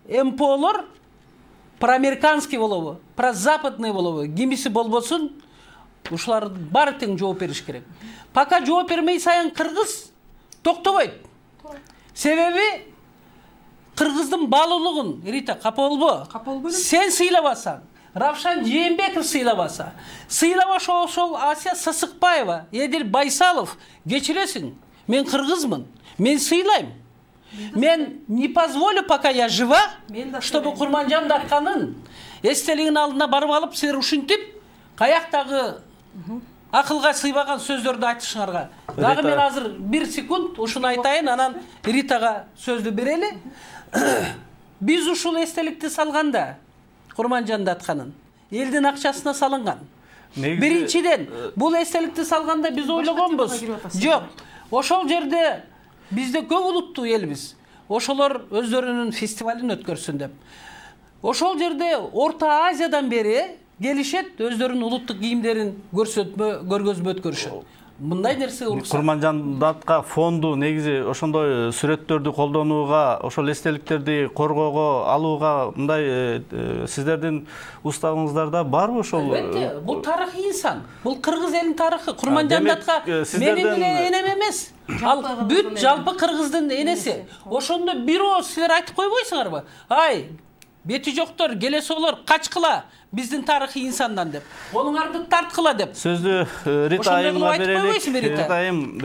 эм пэ олор проамериканский болобу, прозападный болобу, кимиси болбосун, ушулар баары тең жооп бериш керек. Пока жооп бермей сайын кыргыз токтобойт. Себеби кыргыздын баалуулугун, Рита, капа болбо. Сен сыйлабасаң, Равшан Жээнбеков сыйлабаса, сыйлабашы ошол Асия Сасыкбаева, Эдил Байсалов, кечиресиң, мен кыргызмын, мен сыйлайм. Мен не позволю, пока я жива, чтобы Курманжан Датканын эстелигинин алдына барып алып, силер ушинтип, каяктагы акылга сыйбаган сөздөрдү айтышыңарга. Дагы мен азыр бир секунд ушуну айтайын, анан Ритага сөздү берели. Биз ушул эстеликти салганда, Курманжан Датканын элдин акчасына салынган. Биринчиден, бул эстеликти салганда биз ойлогонбуз. Жок, ошол жерде бизде көп улуттуу элбиз. Ошолор өздөрүнүн фестивалын өткөрсүн деп. Ошол жерде Орто Азиядан бери келишет, өздөрүнүн улуттук кийимдерин көрсөтмө, көргөзмө өткөрүшөт. Мындай нерсе уруксат. Курманжан Датка фонду негизи ошондой сүрөттөрдү колдонууга, ошол эстеликтерди коргоого, алууга мындай сиздердин уставыңыздарда барбы ошол? Албетте, бул тарыхый инсан. Бул кыргыз элинин тарыхы. Курманжан Датка менин эле энем эмес. Ал бүт жалпы кыргыздын энеси. Ошондо бирөө силер айтып койбойсуңарбы? Ай, бети жоктор, келесолор качкыла биздин тарыхый инсандан деп. Онуңарды тарткыла деп. Сөздү Рита айымга берелик. Рита айым,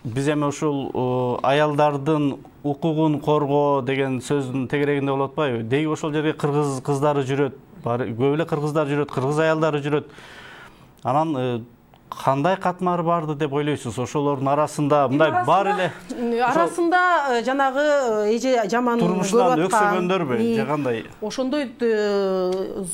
биз эми ушул аялдардын укугун коргоо деген сөздүн тегерегинде болуп атпайбы? Деги ошол жерге кыргыз кыздары жүрөт, көп эле кыргыздар жүрөт, кыргыз аялдары жүрөт. Анан кандай катмары барды деп ойлойсуз? Ошолордун арасында мындай бар эле арасында жанагы эже жаман турмушунан өксөгөндөрбү же кандай? Ошондой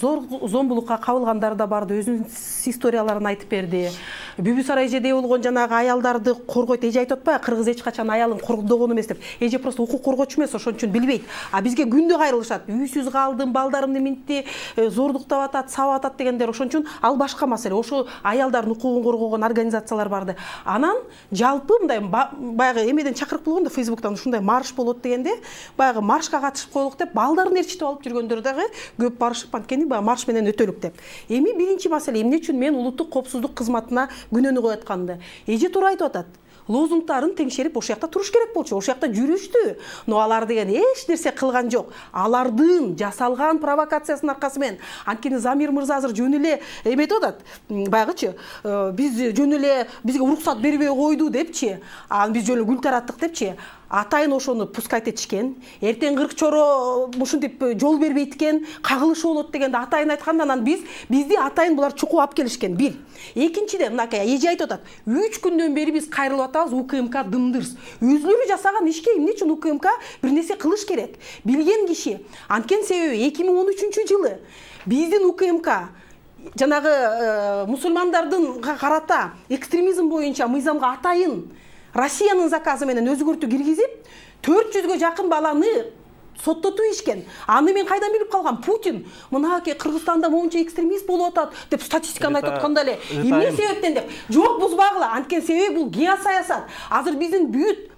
зор зомбулукка кабылгандар да барды, өзүнүн историяларын айтып берди. Бүбүсара эжеде болгон жанагы аялдарды коргойт. Эже айтып атпайбы, кыргыз эч качан аялын коргодогон эмес деп. Эже просто укук коргоочу эмес, ошон үчүн билбейт. А бизге күндө кайрылышат. Үйсүз калдым, балдарымды минтти, зордуктап атат, сабап атат дегендер. Ошон үчүн ал башка маселе. Ошо аялдардын укугун коргогон организациялар барды. Анан жалпы мындай баягы эмеден чакырык болгондо Фейсбуктан ушундай марш болот дегенде, баягы маршка катышып коелук деп, балдарын ээрчитип алып жүргөндөр дагы көп барышып, анткени баягы марш менен өтөлүк деп. Эми биринчи маселе, эмне үчүн мен улуттук коопсуздук кызматына күнөөнү коюп атканды. Эже туура айтып атат. Лозунгтарын теңшерип ошол жакта туруш керек болчу. Ошол жакта жүрүштү. Но алар деген эч нерсе кылган жок. Алардын жасалган провокациясынын аркасы менен. Анткени Замир мырза азыр жөн эле эметип атат. Баягычы, биз жөн эле бизге уруксат бербей койду депчи, анан биз жөн эле гүл тараттык депчи. Атайын ошону пускать этишкен. Эртең кырк чоро ушинтип жол бербейт экен, кагылышы болот дегенде атайын айтканда, анан биз бизди атайын булар чукуп алып келишкен. Бир. Экинчиден, мынакей эже айтып атат. үч күндөн бери биз кайрылып атабыз, У К М К дымдырс. Өзүлөрү жасаган ишке эмне үчүн У К М К бир нерсе кылыш керек? Билген киши. Анткени себеби эки миң он үчүнчү жылы биздин У К М К жанагы мусулмандардын карата экстремизм боюнча мыйзамга атайын Россиянын заказы менен өзгөртүү киргизип, төрт жүзгө жакын баланы соттотуп ишкен. Аны мен кайдан билип калгам? Путин мынакей Кыргызстанда моунча экстремист болуп атат деп статистиканы айтып атканда эле. Эмне себептен деп? Жок, бузбагыла. Анткени себеби бул геосаясат. Азыр биздин бүт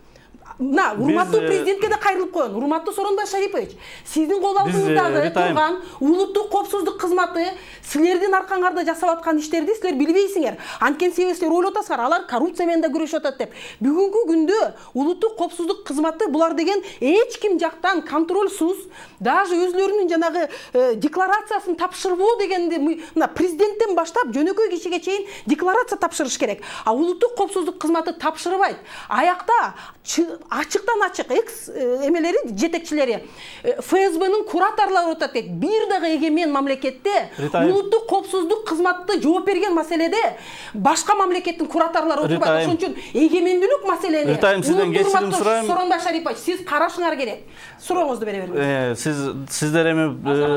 мына урматтуу президентке да кайрылып коеюн. Урматтуу Сооронбай Шарипович, сиздин кол алдыңыздагы турган улуттук коопсуздук кызматы силердин аркаңарда жасап аткан иштерди силер билбейсиңер. Анткени себеби силер ойлоп атасыңар, алар коррупция менен да күрөшүп атат деп. Бүгүнкү күндө улуттук коопсуздук кызматы булар деген эч ким жактан контрольсуз, даже өзлөрүнүн жанагы декларациясын тапшырбоо дегенди мына президенттен баштап жөнөкөй кишиге чейин декларация тапшырыш керек. А улуттук коопсуздук кызматы тапшырбайт. Аякта ачыктан ачык экс эмелери жетекчилери эф эс бнын кураторлору отат дейт. Бир дагы эгемен мамлекетте улуттук коопсуздук кызматы жооп берген маселеде башка мамлекеттин кураторлору отурбайт. Ошон үчүн эгемендүүлүк маселени Ритайым, сизден кечирим сурайм. Сооронбай Шарипович, сиз карашыңар керек. Сурооңузду бере бериңиз. Сиз сиздер эми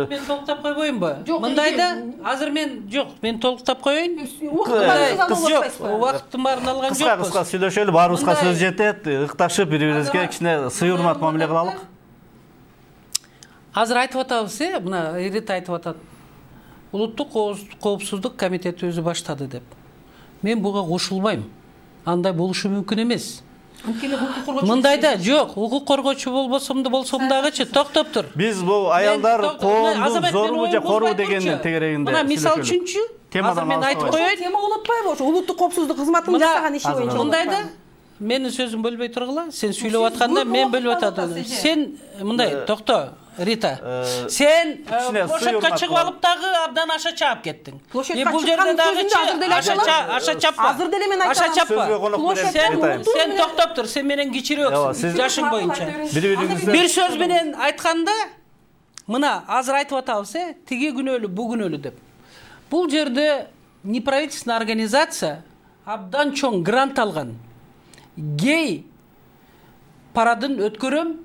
мен толуктап койбоймунбу? Мындайда азыр мен жок, мен толуктап коеюн. Убакыттын баарын алган жокпуз. Кыска-кыска сүйлөшөлү, баарыбызга сөз жетет. Ыкташып бири-бирибизге кичине сый урмат мамиле кылалык. Азыр айтып атабыз, э, мына Рита айтып атат. Улуттук коопсуздук комитети өзү баштады деп. Мен буга кошулбайм. Андай болушу мүмкүн эмес. Мындайда жок, укук коргоочу болбосом да болсом дагычы токтоп тур. Биз бул аялдар коомдун зорубу же корубу дегендин тегерегинде. Мына мисал үчүнчү, азыр мен айтып коеюн. Тема улутпайбы ошо улуттук коопсуздук кызматынын жасаган иши боюнча. Мындайда менин сөзүм бөлбөй тургула. Сен сүйлөп атканда мен бөлүп атам. Сен мындай токто, Рита. Сен площадька чыгып алып дагы абдан аша чаап кеттиң. Бул жерде дагы аша чаппа. Азыр деле мен айтам. Аша чаппа. Сен токтоп тур, сен менен кичирөөксүң жашың боюнча. Бир сөз менен айтканда, мына азыр айтып атабыз, э, тиги күнөөлүү, бу күнөөлүү деп. Бул жерде неправительственный организация абдан чоң грант алган. Гей парадын өткөрөм,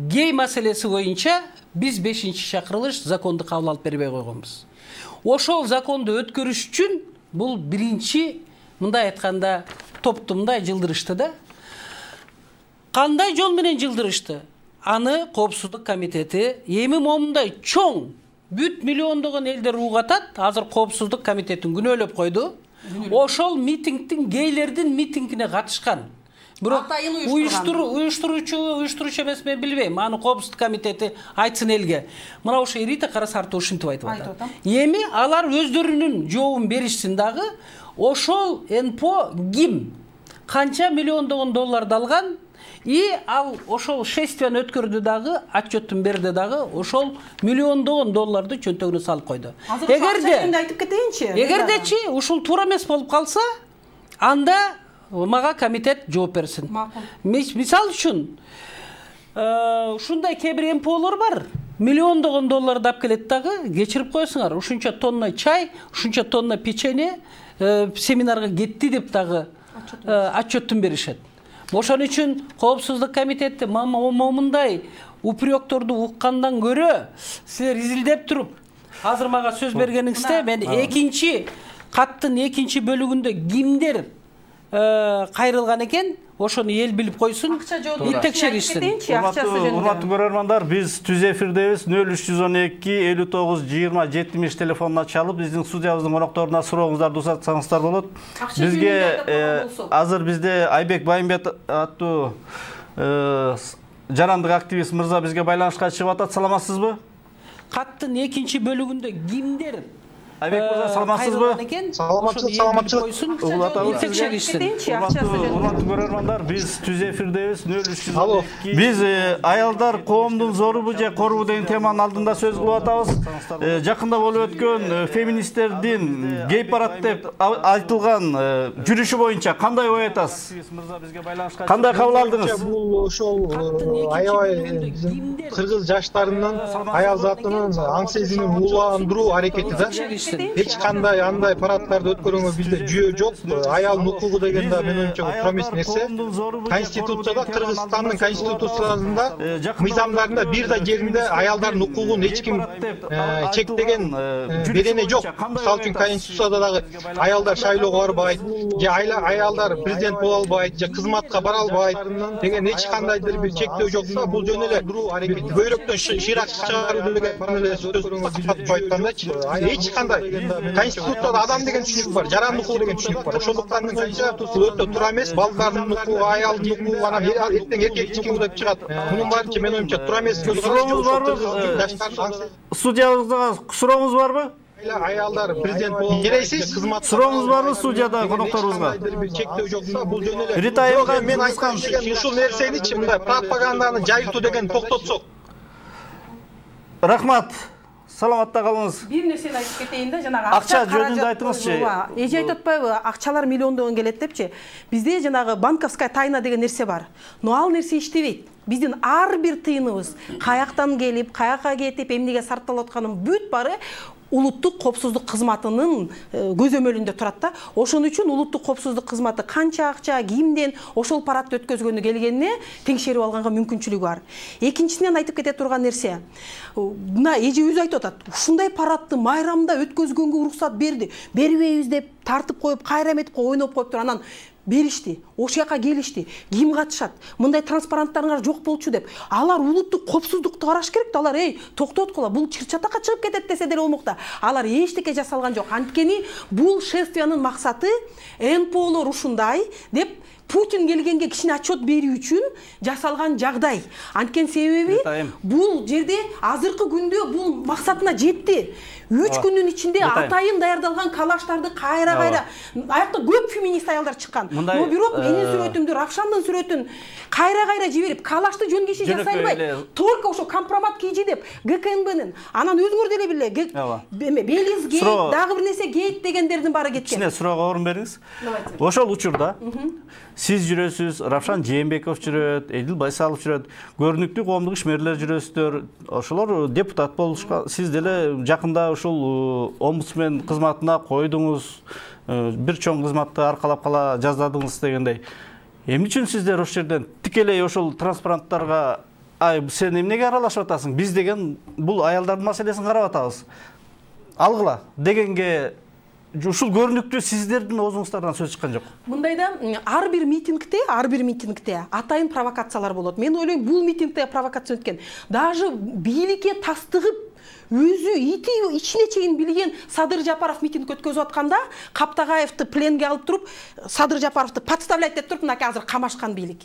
гей маселеси боюнча биз бешинчи чакырылыш законду кабыл алып бербей койгонбуз. Ошол законду өткөрүш үчүн бул биринчи мындай айтканда топту мындай жылдырышты да. Кандай жол менен жылдырышты? Аны коопсуздук комитети эми момундай чоң бүт миллиондогон элдер угатат. Азыр коопсуздук комитетин күнөөлөп койду. Ошол митингдин гейлердин митингине катышкан. Бирок уюштуруу уюштуруучу уюштуруучу эмес мен билбейм. Аны коопсуздук комитети айтсын элге. Мына ошо Рита Карасартова ушинтип айтып атат. Эми алар өздөрүнүн жообун беришсин дагы. Ошол эн пэ о ким канча миллиондогон долларды алган и ал ошол шествияны өткөрдү дагы, отчеттун берди дагы, ошол миллиондогон долларды чөнтөгүнө салып койду. Эгерде айтып кетейинчи. Эгердечи ушул туура эмес болуп калса, анда мага комитет жооп берсин. Мисал үчүн, ушундай кээ бир эн пэ олор бар. Миллиондогон долларды алып келет дагы, кечирип коесуңар. Ушунча тонна чай, ушунча тонна печенье семинарга кетти деп дагы отчеттун беришет. Ошон үчүн коопсуздук комитети момундай упректорду уккандан көрө силер изилдеп туруп, азыр мага сөз бергениңизде мен экинчи каттын экинчи бөлүгүндө кимдер кайрылган экен, ошону эл билип койсун, текшеришсин. Урматтуу көрөрмандар, биз түз эфирдебиз. нөл үч жүз он эки элүү тогуз жыйырма жетимиш телефонуна чалып, биздин студиябыздын конокторуна сурооңуздарды узатсаңыздар болот. Бизге азыр бизде Айбек Байымбет аттуу жарандык активист мырза бизге байланышка чыгып атат. Саламатсызбы? Каттын экинчи бөлүгүндө кимдер Айбек мырза, саламатсызбы? Саламатчылык, саламатчылык. Урматтуу көрөрмандар, биз түз эфирдебиз. нөл үч жүз он эки. Биз аялдар коомдун зорубу же корубу деген теманын алдында сөз кылып атабыз. Жакында болуп өткөн феминисттердин гей парад деп айтылган жүрүшү боюнча кандай ой айтасыз? Кандай кабыл алдыңыз? Бул ошол аябай кыргыз жаштарынын аял затынын аң сезимин ууландыруу аракети да. Эч кандай андай парадтарды өткөрүүгө бизде жүйө жок. Аялдын укугу деген да менин оюмча туура эмес нерсе. Конституцияда, Кыргызстандын конституциясында, мыйзамдарында бир да жеринде аялдардын укугун эч ким чектеген берене жок. Мисалы үчүн конституцияда дагы аялдар шайлоого барбайт, же аялдар президент боло албайт, же кызматка бара албайт деген эч кандайдыр бир чектөө жок. Бул жөн эле көйрөктөн шыйрак чыгаруу деген сөз айткандачы. Эч кандай конституцияда адам деген түшүнүк бар, жарандык укук деген түшүнүк бар. Ошондуктан менимче бул өтө туура эмес. Балдардын укугу, аялдын укугу, анан эртең эркек укугу деп чыгат. Мунун баары менин оюмча туура эмес. Студиябызда сурооңуз барбы? Аялдар президент боло бересиз, кызмат. Сурооңуз барбы студияда конокторубузга? Чектөө жок. Бул жөн эле. Рита айылга мен айткан ушул нерсеничи мындай пропаганданы жайылтуу деген токтотсок. Рахмат. саламатта калыңыз. Бир нерсени айтып кетейин да, жанагы акча жөнүндө айтыңызчы. Эже айтып атпайбы, акчалар миллиондогон келет депчи. Бізде жанагы банковская тайна деген нерсе бар. Но ал нерсе иштебейт. Биздин ар бир тыйыныбыз каяктан келип, каяка кетип, эмнеге сарпталып атканын бүт бары улуттук коопсуздук кызматынын көзөмөлүндө турат да. Ошон үчүн улуттук коопсуздук кызматы канча акча, кимден ошол паратты өткөзгөнү келгенине теңшерип алганга мүмкүнчүлүгү бар. Экинчисинен айтып кете турган нерсе, мына эже өзү айтып атат, ушундай паратты майрамда өткөзгөнгө уруксат берди, бербейбиз деп тартып коюп, кайрам этип ойноп коюптур. Анан беришти, ошол жака келишти, ким катышат, мындай транспаранттарыңар жок болчу деп. Алар улуттук коопсуздукту караш керек да. Алар эй, токтоткула, бул чыр-чатакка чыгып кетет десе деле болмок да. Алар эчтеке жасалган жок. Анткени бул шествиянын максаты эн пэ олор ушундай деп Путин келгенге кичине отчет берүү үчүн жасалган жагдай. Анткени себеби бул жерде азыркы күндө бул максатына жетти. үч күндүн ичинде атайын даярдалган калаштарды кайра-кайра, аякта көп феминист аялдар чыккан. Но бирок менин сүрөтүмдү, Равшандын сүрөтүн кайра-кайра жиберип, калашты жөн киши жасай албайт. Только ошо компромат кийжи деп гэ ка эн бэнин, анан өзүңөр деле биле, Белиз гейт, дагы бир нерсе гейт дегендердин баары кеткен. Кичине суроого орун бериңиз. Ошол учурда сиз жүрөсүз, Равшан Жээнбеков жүрөт, Эдил Байсалов жүрөт, көрүнүктүү коомдук ишмерлер жүрөсүздөр. Ошолор депутат болушкан. Сиз деле жакында ушул омбудсмен кызматына койдуңуз, бир чоң кызматты аркалап кала жаздадыңыз дегендей. Эмне үчүн сиздер ошол жерден тикелей ошол транспаранттарга ай сен эмнеге аралашып атасың? Биз деген бул аялдардын маселесин карап атабыз. Алгыла дегенге ушул көрүнүктүү сиздердин оозуңуздардан сөз чыккан жок. Мындайда ар бир митингде, ар бир митингде атайын провокациялар болот. Мен ойлойм, бул митингде провокация өткөн. Даже бийликке тастыгып өзү ити ичине чейин билген Садыр Жапаров митинг өткөзүп атканда, Каптагаевди пленге алып туруп, Садыр Жапаровду подставлять деп туруп, мынакей азыр камашкан бийлик.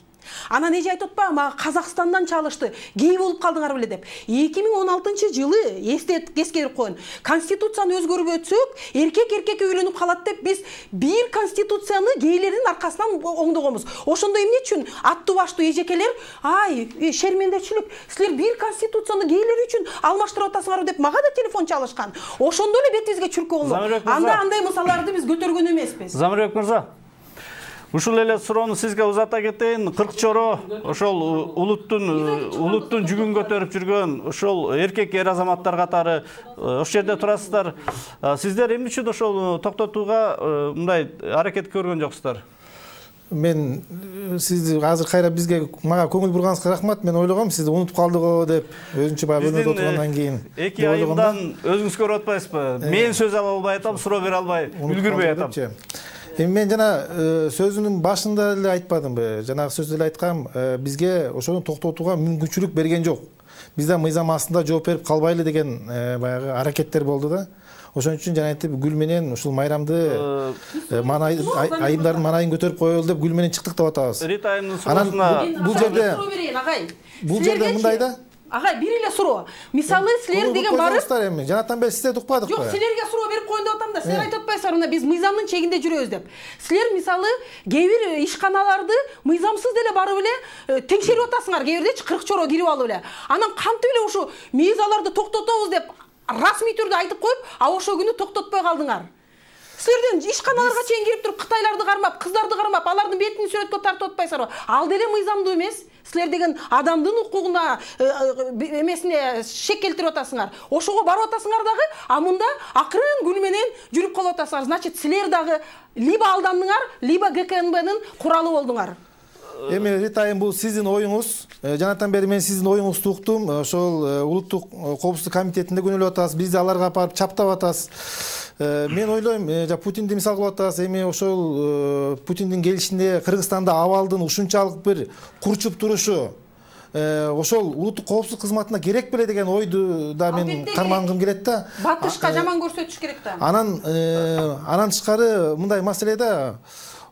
Анан эже айтып атпа, мага Казакстандан чалышты, гей болуп калдыңар беле деп. эки миң он алтынчы жылы эстет эскерип коюн. Конституцияны өзгөрүп өтсөк, эркек эркекке үйлөнүп калат деп биз бир конституцияны гейлердин аркасынан оңдогонбуз. Ошондо эмне үчүн аттуу баштуу эжекелер, ай, шермендечилик, силер бир конституцияны гейлер үчүн алмаштырып атасыңар деп мага да телефон чалышкан. Ошондо эле бетибизге чүркө болду. Анда андай мисалдарды биз көтөргөн эмеспиз. Замирбек мырза, ушул эле суроону сизге узата кетейин. кырк чоро ошол улуттун улуттун жүгүн көтөрүп жүргөн ошол эркек эр азаматтар катары ошол жерде турасыздар. Сиздер эмне үчүн ошол токтотууга мындай аракет көргөн жоксуздар? Мен сиз азыр кайра бизге мага көңүл бурганыңызга рахмат. Мен ойлогом сизди унутуп калдыгы деп, өзүнчө баягы өнөдө отургандан кийин. эки айымдан өзүңүз көрүп атпайсызбы? Мен сөз ала албай атам, суроо бере албай, үлгүрбөй атам. Эми мен жана сөзүнүн башында эле айтпадымбы? Жанагы сөздө эле айткам, бизге ошону токтотууга мүмкүнчүлүк берген жок. Биз да мыйзам астында жооп берип калбайлы деген баягы аракеттер болду да. Ошон үчүн жана айтып Гүл менен ушул майрамды айымдардын манайын көтөрүп коелу деп Гүл менен чыктык деп атабыз. Рита айымдын суроосуна бул жерде бул жерде мындай да. Агай, бир эле суроо. Мисалы, силер деген барып, жанатан бери сиздерди укпадык го. Жок, силерге суроо берип коюн деп атам да. Силер айтып атпайсыздар, мына биз мыйзамдын чегинде жүрөбүз деп. Силер мисалы, кээ бир ишканаларды мыйзамсыз деле барып эле теңшерип атасыңар, кээ бирдечи кырк чоро кирип алып эле. Анан кантип эле ушу мыйзаларды токтотобуз деп расмий түрдө айтып коюп, а ошол күнү токтотпой калдыңар. Силерден ишканаларга чейин кирип туруп Кытайларды кармап, кыздарды кармап, алардын бетин сүрөткө тартып атпайсыздарбы? Ал деле мыйзамдуу эмес. Силер деген адамдын укугуна эмесине шек келтирип атасыңар. Ошого барып атасыңар дагы, а мында акырын Гүл менен жүрүп калып атасыңар. Значит, силер дагы либо алдандыңар, либо гэ ка эн бэнин куралы болдуңар. Эми Ритайым, бул сиздин оюңуз. Жанатан бери мен сиздин оюңузду уктум. Ошол улуттук коопсуздук комитетинде күнөөлөп атасыз, бизди аларга барып чаптап атасыз. Мен ойлойм, Путинди мисал кылып атасыз. Эми ошол Путиндин келишинде Кыргызстанда абалдын ушунчалык бир курчуп турушу ошол улуттук коопсуздук кызматына керек беле деген ойду да мен кармангым келет да. Батышка жаман көрсөтүш керек да. Анан анан тышкары мындай маселе да.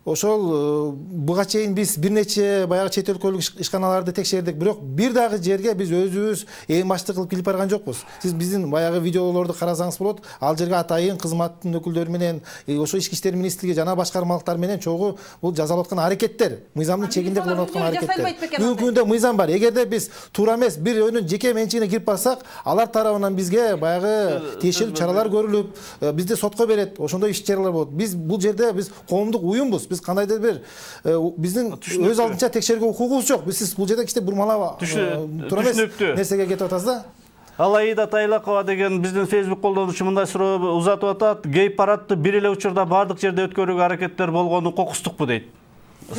ошол буга чейин биз бир нече баягы чет өлкөлүк ишканаларды текшердик, бирок бир дагы жерге биз өзүбүз эң башты кылып кирип барган жокпуз. Сиз биздин баягы видеолорду карасаңыз болот, ал жерге атайын кызматтын өкүлдөрү менен, ошо ички иштер министрлиги жана башкармалыктар менен чогуу бул жасалып аткан аракеттер, мыйзамдын чегинде кылынып аткан аракеттер. Бүгүнкү күндө мыйзам бар. Эгерде биз туура эмес бир өйнүн жеке менчигине кирип барсак, алар тарабынан бизге баягы тиешелүү чаралар көрүлүп, бизди сотко берет, ошондой иш чаралар болот. Биз бул жерде биз коомдук уюмбуз. Биз кандайдыр бир биздин өз алдынча текшергө укугубуз жок. Биз сиз бул жерде кичине бурмалап туура эмес нерсеге кетип атасыз да. Алайда Тайлакова деген биздин Facebook колдонуучу мындай суроо узатып атат. Гей парадты бир эле учурда бардык жерде өткөрүүгө аракеттер болгону кокустукпу дейт.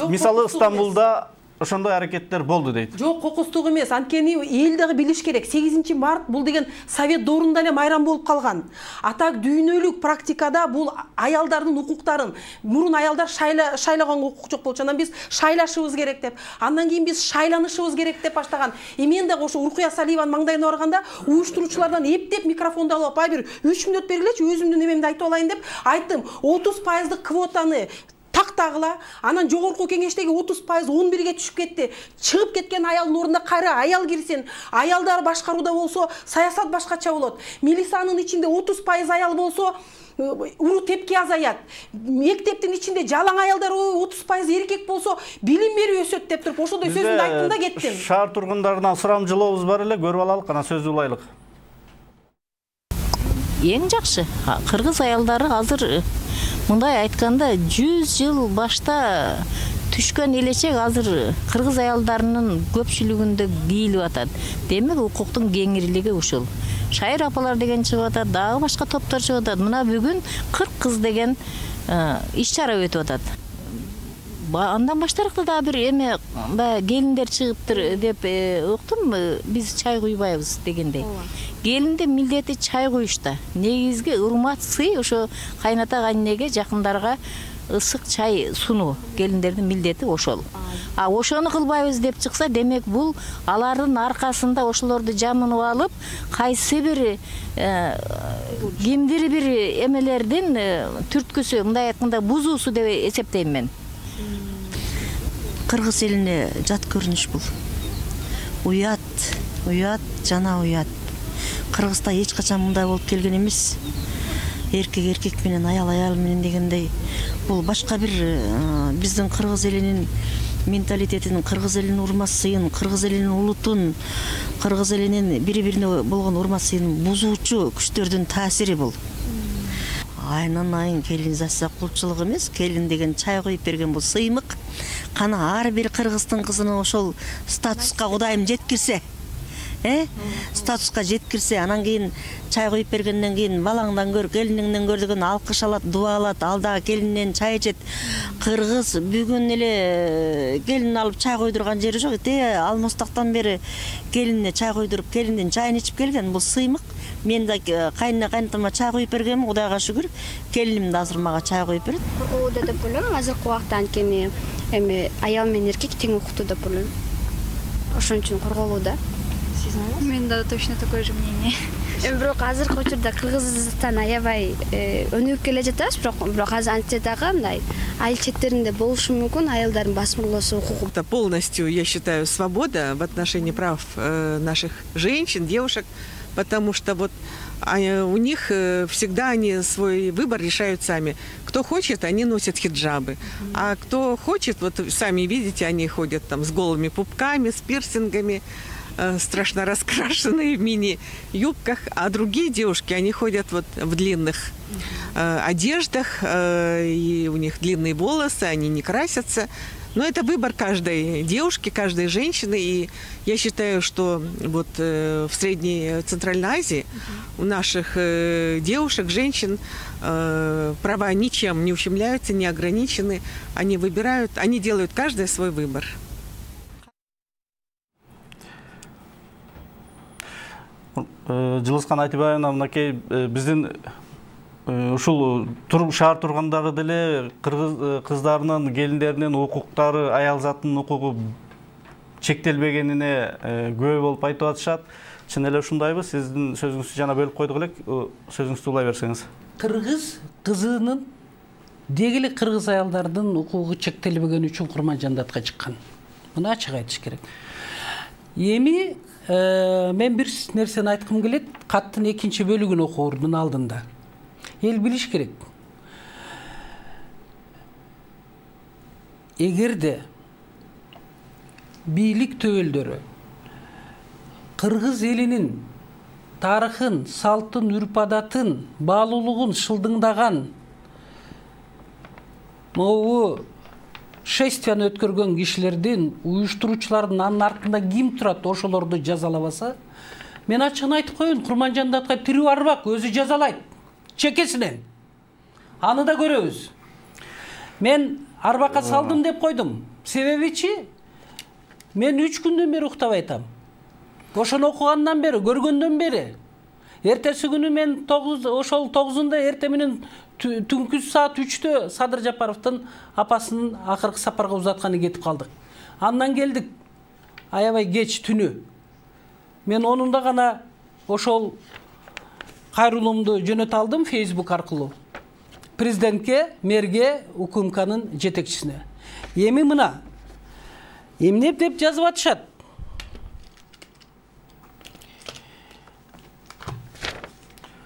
Мисалы Стамбулда ошондой аракеттер болду дейт. Жок, кокустук эмес. Анткени эл дагы билиш керек. сегизинчи март бул деген Совет доорунда эле майрам болуп калган. Атак дүйнөлүк практикада бул аялдардын укуктарын, мурун аялдар шайла шайлаганга укук жок болчу. Анан биз шайлашыбыз керек деп, андан кийин биз шайланышыбыз керек деп баштаган. И мен дагы ошо Уркуя Салиеванын маңдайына барганда уюштуруучулардан эптеп микрофонду алып, "Ай бир үч мүнөт бергилечи, өзүмдүн немемди айтып алайын" деп айттым. отуз пайыздык квотаны тактагыла, анан жогорку кеңештеги отуз пайыз он бирге түшүп кетти. Чыгып кеткен аялдын ордуна кайра аял кирсин. Аялдар башкарууда болсо, саясат башкача болот. Милициянын ичинде отуз пайыз аял болсо, уруу тепки азаят. Мектептин ичинде жалаң аялдар отуз пайыз эркек болсо, билим берүү өсөт деп туруп, ошондой сөздү айттым да кеттим. Шаар тургундарынан сурамжылообуз бар эле, көрүп алалык, анан сөздү улайлык. Эң жакшы кыргыз аялдары азыр мындай айтканда жүз жыл башта түшкөн элечек азыр кыргыз аялдарынын көпчүлүгүндө кийилип атат. Демек укуктун кеңирлиги ушул. Шайыр апалар деген чыгып атат, дагы башка топтор чыгып атат. Мына бүгүн кырк кыз деген иш чара өтүп атат. Андан баштаракта дагы бир эме келиндер чыгыптыр деп уктум, биз чай куйбайбыз дегендей. Келиндин милдети чай куюшта. Негизги урмат сый ошо кайната кайненеге, жакындарга ысык чай сунуу. Келиндердин милдети ошол. А ошону кылбайбыз деп чыкса, демек бул алардын аркасында ошолорду жамынып алып, кайсы бир кимдир бир эмелердин түрткүсү, мындай айтканда бузуусу деп эсептейм мен. Кыргыз элине жат көрүнүш бул. Уят, уят, жана уят. Кыргызда эч качан мындай болуп келген эмес. Эркек эркек менен, аял аял менен дегендей. Бул башка бир биздин кыргыз элинин менталитетин, кыргыз элинин урмат сыйын, кыргыз элинин улутун, кыргыз элинин бири-бирине болгон урмат сыйын бузуучу күчтөрдүн таасири бул. Айнан айын келин засса кулчулук эмес, келин деген чай коюп берген бул сыймык. Кана ар бир кыргыздын кызына ошол статуска Кудайым жеткирсе, э? Статуска жеткирсе, анан кийин чай коюп бергенден кийин балаңдан көр, келиниңден көр деген алкыш алат, дуа алат, ал дагы келининен чай ичет. Кыргыз бүгүн эле келин алып чай койдурган жери жок. Те алмостактан бери келинине чай койдуруп, келиндин чайын ичип келген, бул сыймык. Мен да кайнына кайнатама чай коюп бергенмин, Кудайга шүгүр. Келиним да азыр мага чай коюп берет. Коркууда деп ойлойм, азыркы убакта анткени эми аял менен эркек тең укуктуу деп ойлойм. Ошон үчүн корголууда. У меня да точно такое же мнение. Бирок азыркы учурда Кыргызстан аябай өнүгүп келе жатабыз, бирок бирок азыр антсе дагы мындай айыл четтеринде болушу мүмкүн аялдардын басмырлоосу укугу. Это полностью, я считаю, свобода в отношении прав наших женщин, девушек, потому что вот у них всегда они свой выбор решают сами. Кто хочет, они носят хиджабы, а кто хочет, вот сами видите, они ходят там с голыми пупками, с пирсингами, страшно раскрашенные в мини-юбках, а другие девушки, они ходят вот в длинных э, одеждах, э, и у них длинные волосы, они не красятся. Но это выбор каждой девушки, каждой женщины, и я считаю, что вот э, в Средней Центральной Азии у наших э, девушек, женщин э, права ничем не ущемляются, не ограничены, они выбирают, они делают каждый свой выбор. Жылыскан Айтыбаевна, мынакей биздин ушул шаар тургандары деле кыргыз кыздарынын, келиндеринин укуктары, аял затынын укугу чектелбегенине күбө болуп айтып атышат. Чын эле ушундайбы? Сиздин сөзүңүздү жана бөлүп койдук элек, сөзүңүздү улай берсеңиз. Кыргыз кызынын деги эле кыргыз аялдардын укугу чектелбегени үчүн Курманжандатка чыккан. Муну ачык айтыш керек. Эми мен бир нерсени айткым келет, каттын экинчи бөлүгүн окуурдун алдында. Эл билиш керек. Эгерде бийлик төбөлдөрү кыргыз элинин тарыхын, салтын, үрп-адатын, баалуулугун шылдыңдаган могу шествияны өткөргөн кишилердин, уюштуруучулардын анын артында ким турат, ошолорду жазалабаса, мен ачыгын айтып коеюн, Курманжандатка тирүү арбак, өзү жазалайт, чекесинен. Аны да көрөбүз. Мен арбакка салдым деп койдум. Себебичи, мен үч күндөн бери уктабай атам. Ошону окугандан бери, көргөндөн бери. Эртеси күнү мен ошол тогузунда эрте менен түнкү саат үчтө Садыр Жапаровдун апасынын акыркы сапарга узатканы кетип калдык. Андан келдик аябай кеч түнү. Мен онунда гана ошол кайрылуумду жөнөтө алдым Facebook аркылуу. Президентке, мэрге, УКМКнын жетекчисине. Эми мына эмне деп жазып атышат?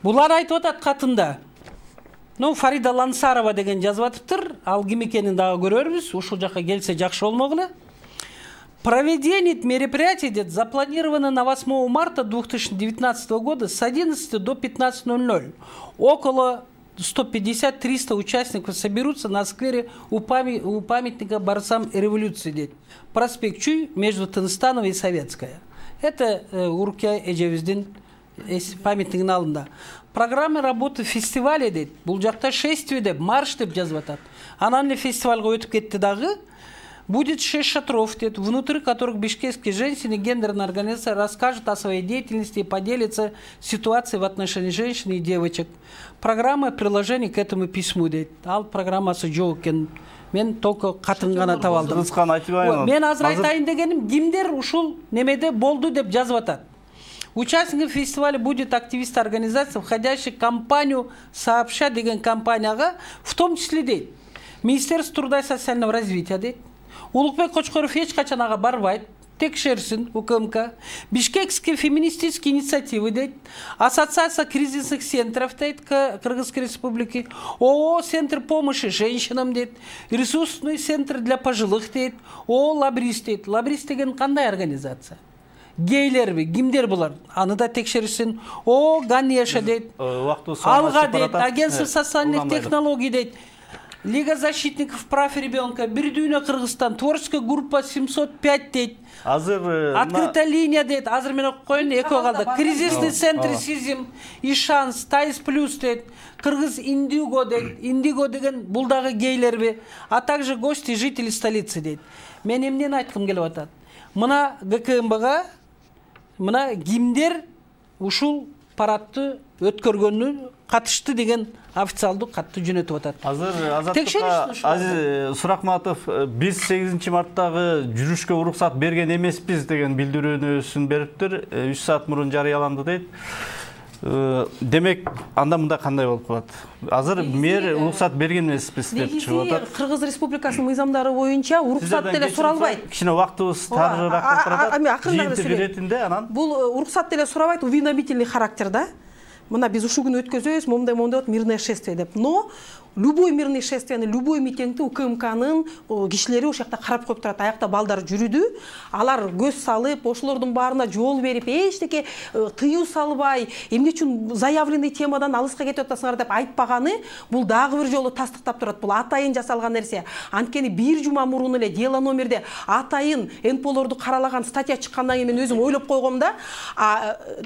Булар айтып атат катында. Ну, Фарида Лансарова деген жазып атыптыр. Ал ким экенин дагы көрөрбүз. Ушул жакка келсе жакшы болмогулу. Проведение мероприятий запланировано на восьмое марта две тысячи девятнадцатого года с одиннадцати до пятнадцати ноль ноль. Около сто пятьдесят - триста участников соберутся на сквере у, памя... у памятника борцам революции, дейт. Проспект Чуй между Тынстановой и Советская. Это э, Уркия Эжевиздин памятнигин алдында. Программа работы фестиваля дейт. Бул жакта шествие деп, марш деп жазып атат. Анан эле фестивальга өтүп кетти дагы. Будет шесть шатров, дейт, внутри которых бишкекские женщины гендерная организация расскажут о своей деятельности и поделятся ситуацией в отношении женщин и девочек. Программа приложение к этому письму, дейт. Ал программасы жок экен. Мен только катын гана таап алдым. Мен азыр айтайын дегеним, кимдер ушул немеде болду деп жазып атат. Участником фестиваля будет активист организации, входящий в компанию «Сообща» деген компанияга, в том числе, дейт, Министерство труда и социального развития, дейт, Улукбек Кочкоров эч качан ага барбайт, текшерсин УКМК, Бишкекские феминистические инициативы, дейт, Ассоциация кризисных центров, дейт, Кыргызской республики, ООО «Центр помощи женщинам», дейт, Ресурсный центр для пожилых, дейт, ООО «Лабрис», дейт. Лабрис деген кандай организация? Гейлерби, кимдер булар? Аны да текшерсин. О, Ганеша, дейт. Алга, дейт, Агентство социальных технологий, дейт. Лига защитников прав ребенка, Бирдюйна, Кыргызстан, творческая группа семьсот пять, дейт. Азыр открытая линия, дейт. Азыр мен окуп коеюн, эки калды. Кризисный центр Сизим и Шанс, Таис плюс, дейт. Кыргыз Индиго, дейт. Индиго деген бул дагы гейлерби, а также гости жители столицы, дейт. Мен эмнени айткым келип атат? Мына ГКМБга мына кимдер ушул парадты өткөргөнү катышты деген официалдуу катты жөнөтүп атат. Азыр Азаттыкка Азиз Суракматов, биз сегизинчи марттагы жүрүшкө уруксат берген эмеспиз деген билдирүүнүсүн бериптир. үч саат мурун жарыяланды, дейт. Демек, анда мында кандай болуп калат? Азыр мэр уруксат берген эмеспиз деп чыгып атат. Кыргыз Республикасынын мыйзамдары боюнча уруксат деле суралбайт. Кичине убактыбыз тарыраак болуп атат. Жыйынтык иретинде анан бул уруксат деле сурабайт, уведомительный характер да. Мына биз ушул күнү өткөзөбүз, момундай момундай мирное шествие деп. Но любой мирный шествияны, любой митингди УКМКнын кишилери ошол жакта карап коюп турат. Аякта балдар жүрүдү. Алар көз салып, ошолордун баарына жол берип, эчтеке тыюу салбай, эмне үчүн заявленный темадан алыска кетип атасыңар деп айтпаганы бул дагы бир жолу тастыктап турат. Бул атайын жасалган нерсе. Анткени бир жума мурун эле дело номерде атайын НПОлорду каралаган статья чыккандан кийин мен өзүм ойлоп койгом да,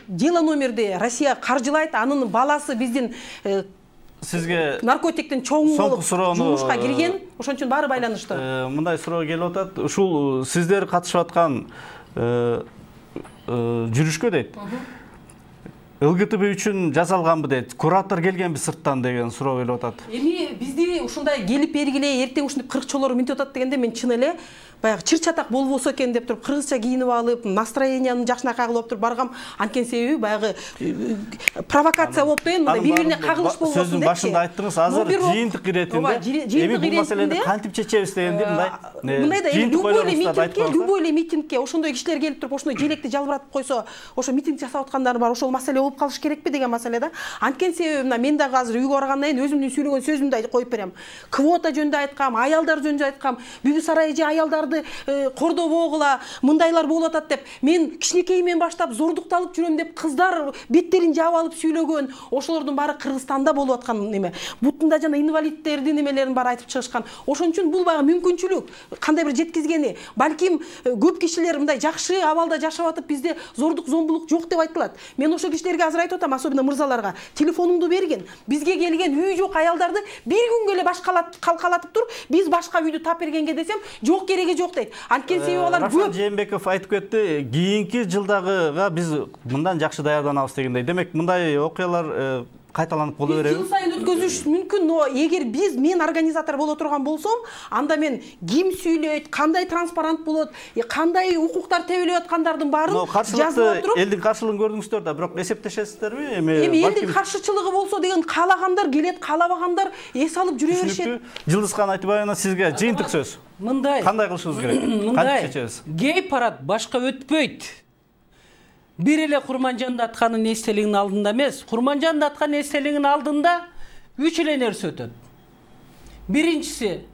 дело номерде Россия каржылайт, анын баласы биздин сизге наркотиктин чоң болуп жумушка кирген, ошон үчүн баары байланыштуу. Мындай суроо келип атат. Ушул сиздер катышып аткан жүрүшкө, дейт, ЛГТБ үчүн жасалганбы дейт. Куратор келгенби сырттан деген суроо келип атат. Эми бизди ушундай келип бергиле, эртең ушундай кыркчолор минтип атат дегенде мен чын эле баягы чыр чатак болбосо экен деп туруп кыргызча кийинип алып, настроениянын жакшынакай кылып туруп баргам. Анткени себеби баягы провокация болуп деген мындай бири-бирине кагылыш болбосун деп. Сөздүн башында айттыңыз, азыр жыйынтык иретинде эми бул маселени кантип чечебиз дегенди мындай мындай да любой эле митингке, любой эле митингке ошондой кишилер келип туруп ошондой желекти жалбыратып койсо, ошо митинг жасап аткандар бар, ошол маселе болуп калыш керекпи деген маселе да. Анткени себеби мына мен дагы азыр үйгө баргандан кийин өзүмдүн сүйлөгөн сөзүмдү коюп берем. Квота жөнүндө айткам, аялдар жөнүндө айткам, Бүбү сарайы же аялдарды кордобогула, мындайлар болуп атат деп. Мен кичинекейимен баштап зордукталып жүрөм деп кыздар беттерин жаап алып сүйлөгөн, ошолордун баары Кыргызстанда болуп аткан неме. Бутунда жана инвалидтердин немелерин баары айтып чыгышкан. Ошон үчүн бул баягы мүмкүнчүлүк, кандай бир жеткизгени. Балким көп кишилер мындай жакшы абалда жашап атып, бизде зордук, зомбулук жок деп айтылат. Мен ошол кишилерге азыр айтып атам, особенно мырзаларга, телефонуңду бергин. Бизге келген үй жок аялдарды бир күнгө эле башкалат калкалатып тур, биз башка үйдү тап бергенге десем, жок кереги жок дейт. Анткени себеби алар көп. Рафат Жээнбеков айтып кетти, кийинки жылдагыга биз мындан жакшы даярданабыз дегендей. Демек, мындай окуялар кайталанып боло береби? Жыл сайын өткөзүш мүмкүн, но эгер биз мен организатор боло турган болсом, анда мен ким сүйлөйт, кандай транспарант болот, кандай укуктар тебилип аткандардын баарын жазып туруп, элдин каршылыгын көрдүңүздөр да, бирок эсептешесиздерби? Эми элдин каршычылыгы болсо деген каалагандар келет, каалабагандар эс алып жүрө беришет. Жылдызхан Айтыбаевна, сизге жыйынтык сөз. Мындай. Кандай кылышыбыз керек? Мындай. Гей парад башка өтпөйт. Бир эле Курманжан Датканын эстелигинин алдында эмес, Курманжан Датканын эстелигинин алдында үч эле нерсе өтөт. Биринчиси,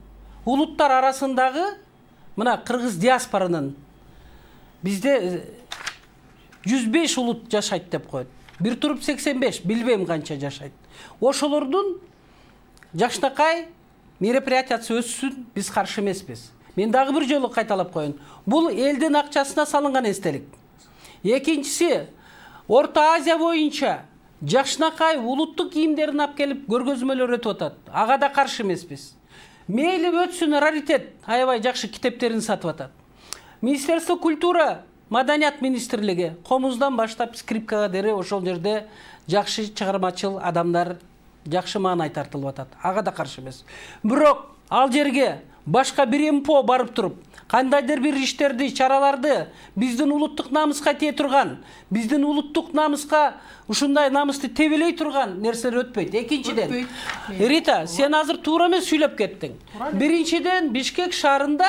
улуттар арасындагы мына кыргыз диаспоранын бизде жүз беш улут жашайт деп коет. Бир туруп сексен беш, билбейм канча жашайт. Ошолордун жакшынакай мероприятиясы өссүн, биз каршы эмеспиз. Мен дагы бир жолу кайталап коеюн. Бул элдин акчасына салынган эстелик. Экинчиси, Орто Азия боюнча жакшынакай улуттук кийимдерин алып келип көргөзмөлөр өтүп атат. Ага да каршы эмеспиз. Мейли өтсүн, раритет, аябай жакшы китептерин сатып атат. Министерство культура, маданият министрлиги комуздан баштап скрипкага дери ошол жерде жакшы чыгармачыл адамдар, жакшы маанай тартылып атат. Ага да каршы эмес. Бирок ал жерге башка бир МПО барып туруп, кандайдыр бир иштерди, чараларды биздин улуттук намыска тие турган, биздин улуттук намыска ушундай намысты тебелей турган нерселер өтпөйт. Экинчиден, Рита, сен азыр туура эмес сүйлөп кеттиң. Биринчиден, Бишкек шаарында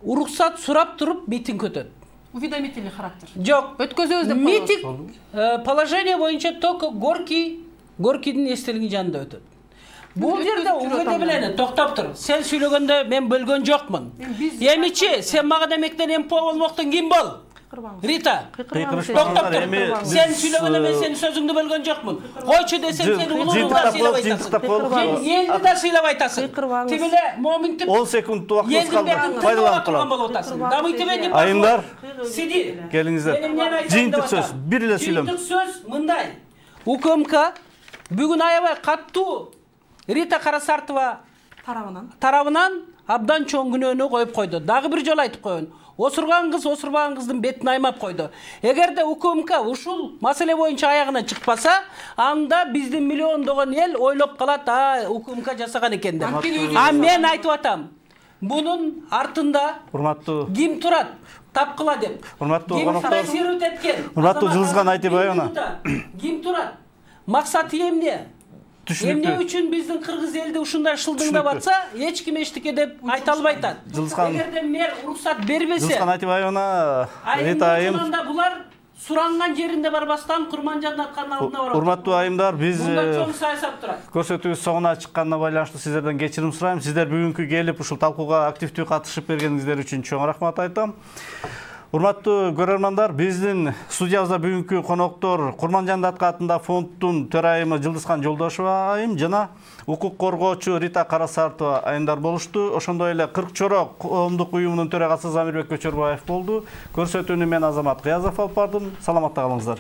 уруксат сурап туруп митинг өтөт. Уведомительный характер. Жок, өткөзөбүз деп митинг положение боюнча только Горький, Горькийдин эстелигинин жанында өтөт. Бул жерде уведомление токтоп тур. Сен сүйлөгөндө мен бөлгөн жокмун. Эмичи, сен мага демектен МПО болмоктон ким бол? Рита, токтоп тур. Сен сүйлөгөндө мен сенин сөзүңдү бөлгөн жокмун. Койчу десем сени улууга сыйлап айтасың. Элди да сыйлап айтасың. Тигиле моминтип он секунд убактыбыз калды. Пайдаланып калам. Дамыйтыбен Айымдар, сиди. Келиңиздер. Жыйынтык сөз, бир эле сүйлөм. Жыйынтык сөз мындай. УКМК бүгүн аябай каттуу Рита Карасартова тарабынан тарабынан абдан чоң күнөөнү коюп койду. Дагы бир жолу айтып коеюн. Осурган кыз осурбаган кыздын бетин аймап койду. Эгерде УКМК ушул маселе боюнча аягына чыкпаса, анда биздин миллиондогон эл ойлоп калат, а УКМК жасаган экен деп. А мен айтып атам, бунун артында урматтуу ким турат? Тапкыла деп. Урматтуу коноктор. Эткен. Урматтуу Жылдызхан Айтыбаевна. Ким турат? Максаты эмне? Эмне үчүн биздин кыргыз элди ушундай шылдыңдап атса, эч ким эчтеке деп айта албай атат. Эгерде мэр уруксат бербесе, Жылдызхан Айтыбаевна, Рита айым, булар суранган жеринде барбастан Курманжан Датканын алдына барат. Урматтуу айымдар, биз чоң саясат турат. Көрсөтүүбүз соңуна чыкканына байланыштуу сиздерден кечирим сурайм. Сиздер бүгүнкү келип ушул талкууга активдүү катышып бергениңиздер үчүн чоң рахмат айтам. Урматтуу көрөрмандар, биздин студиябызда бүгүнкү коноктор Курманжан Датка атында фонддун төрайымы Жылдызхан Жолдошова айым жана укук коргоочу Рита Карасартова айымдар болушту. Ошондой эле кырк чорок коомдук уюмунун төрагасы Замирбек Көчөрбаев болду. Көрсөтүүнү мен Азамат Кыязов алып бардым. Саламатта калыңыздар.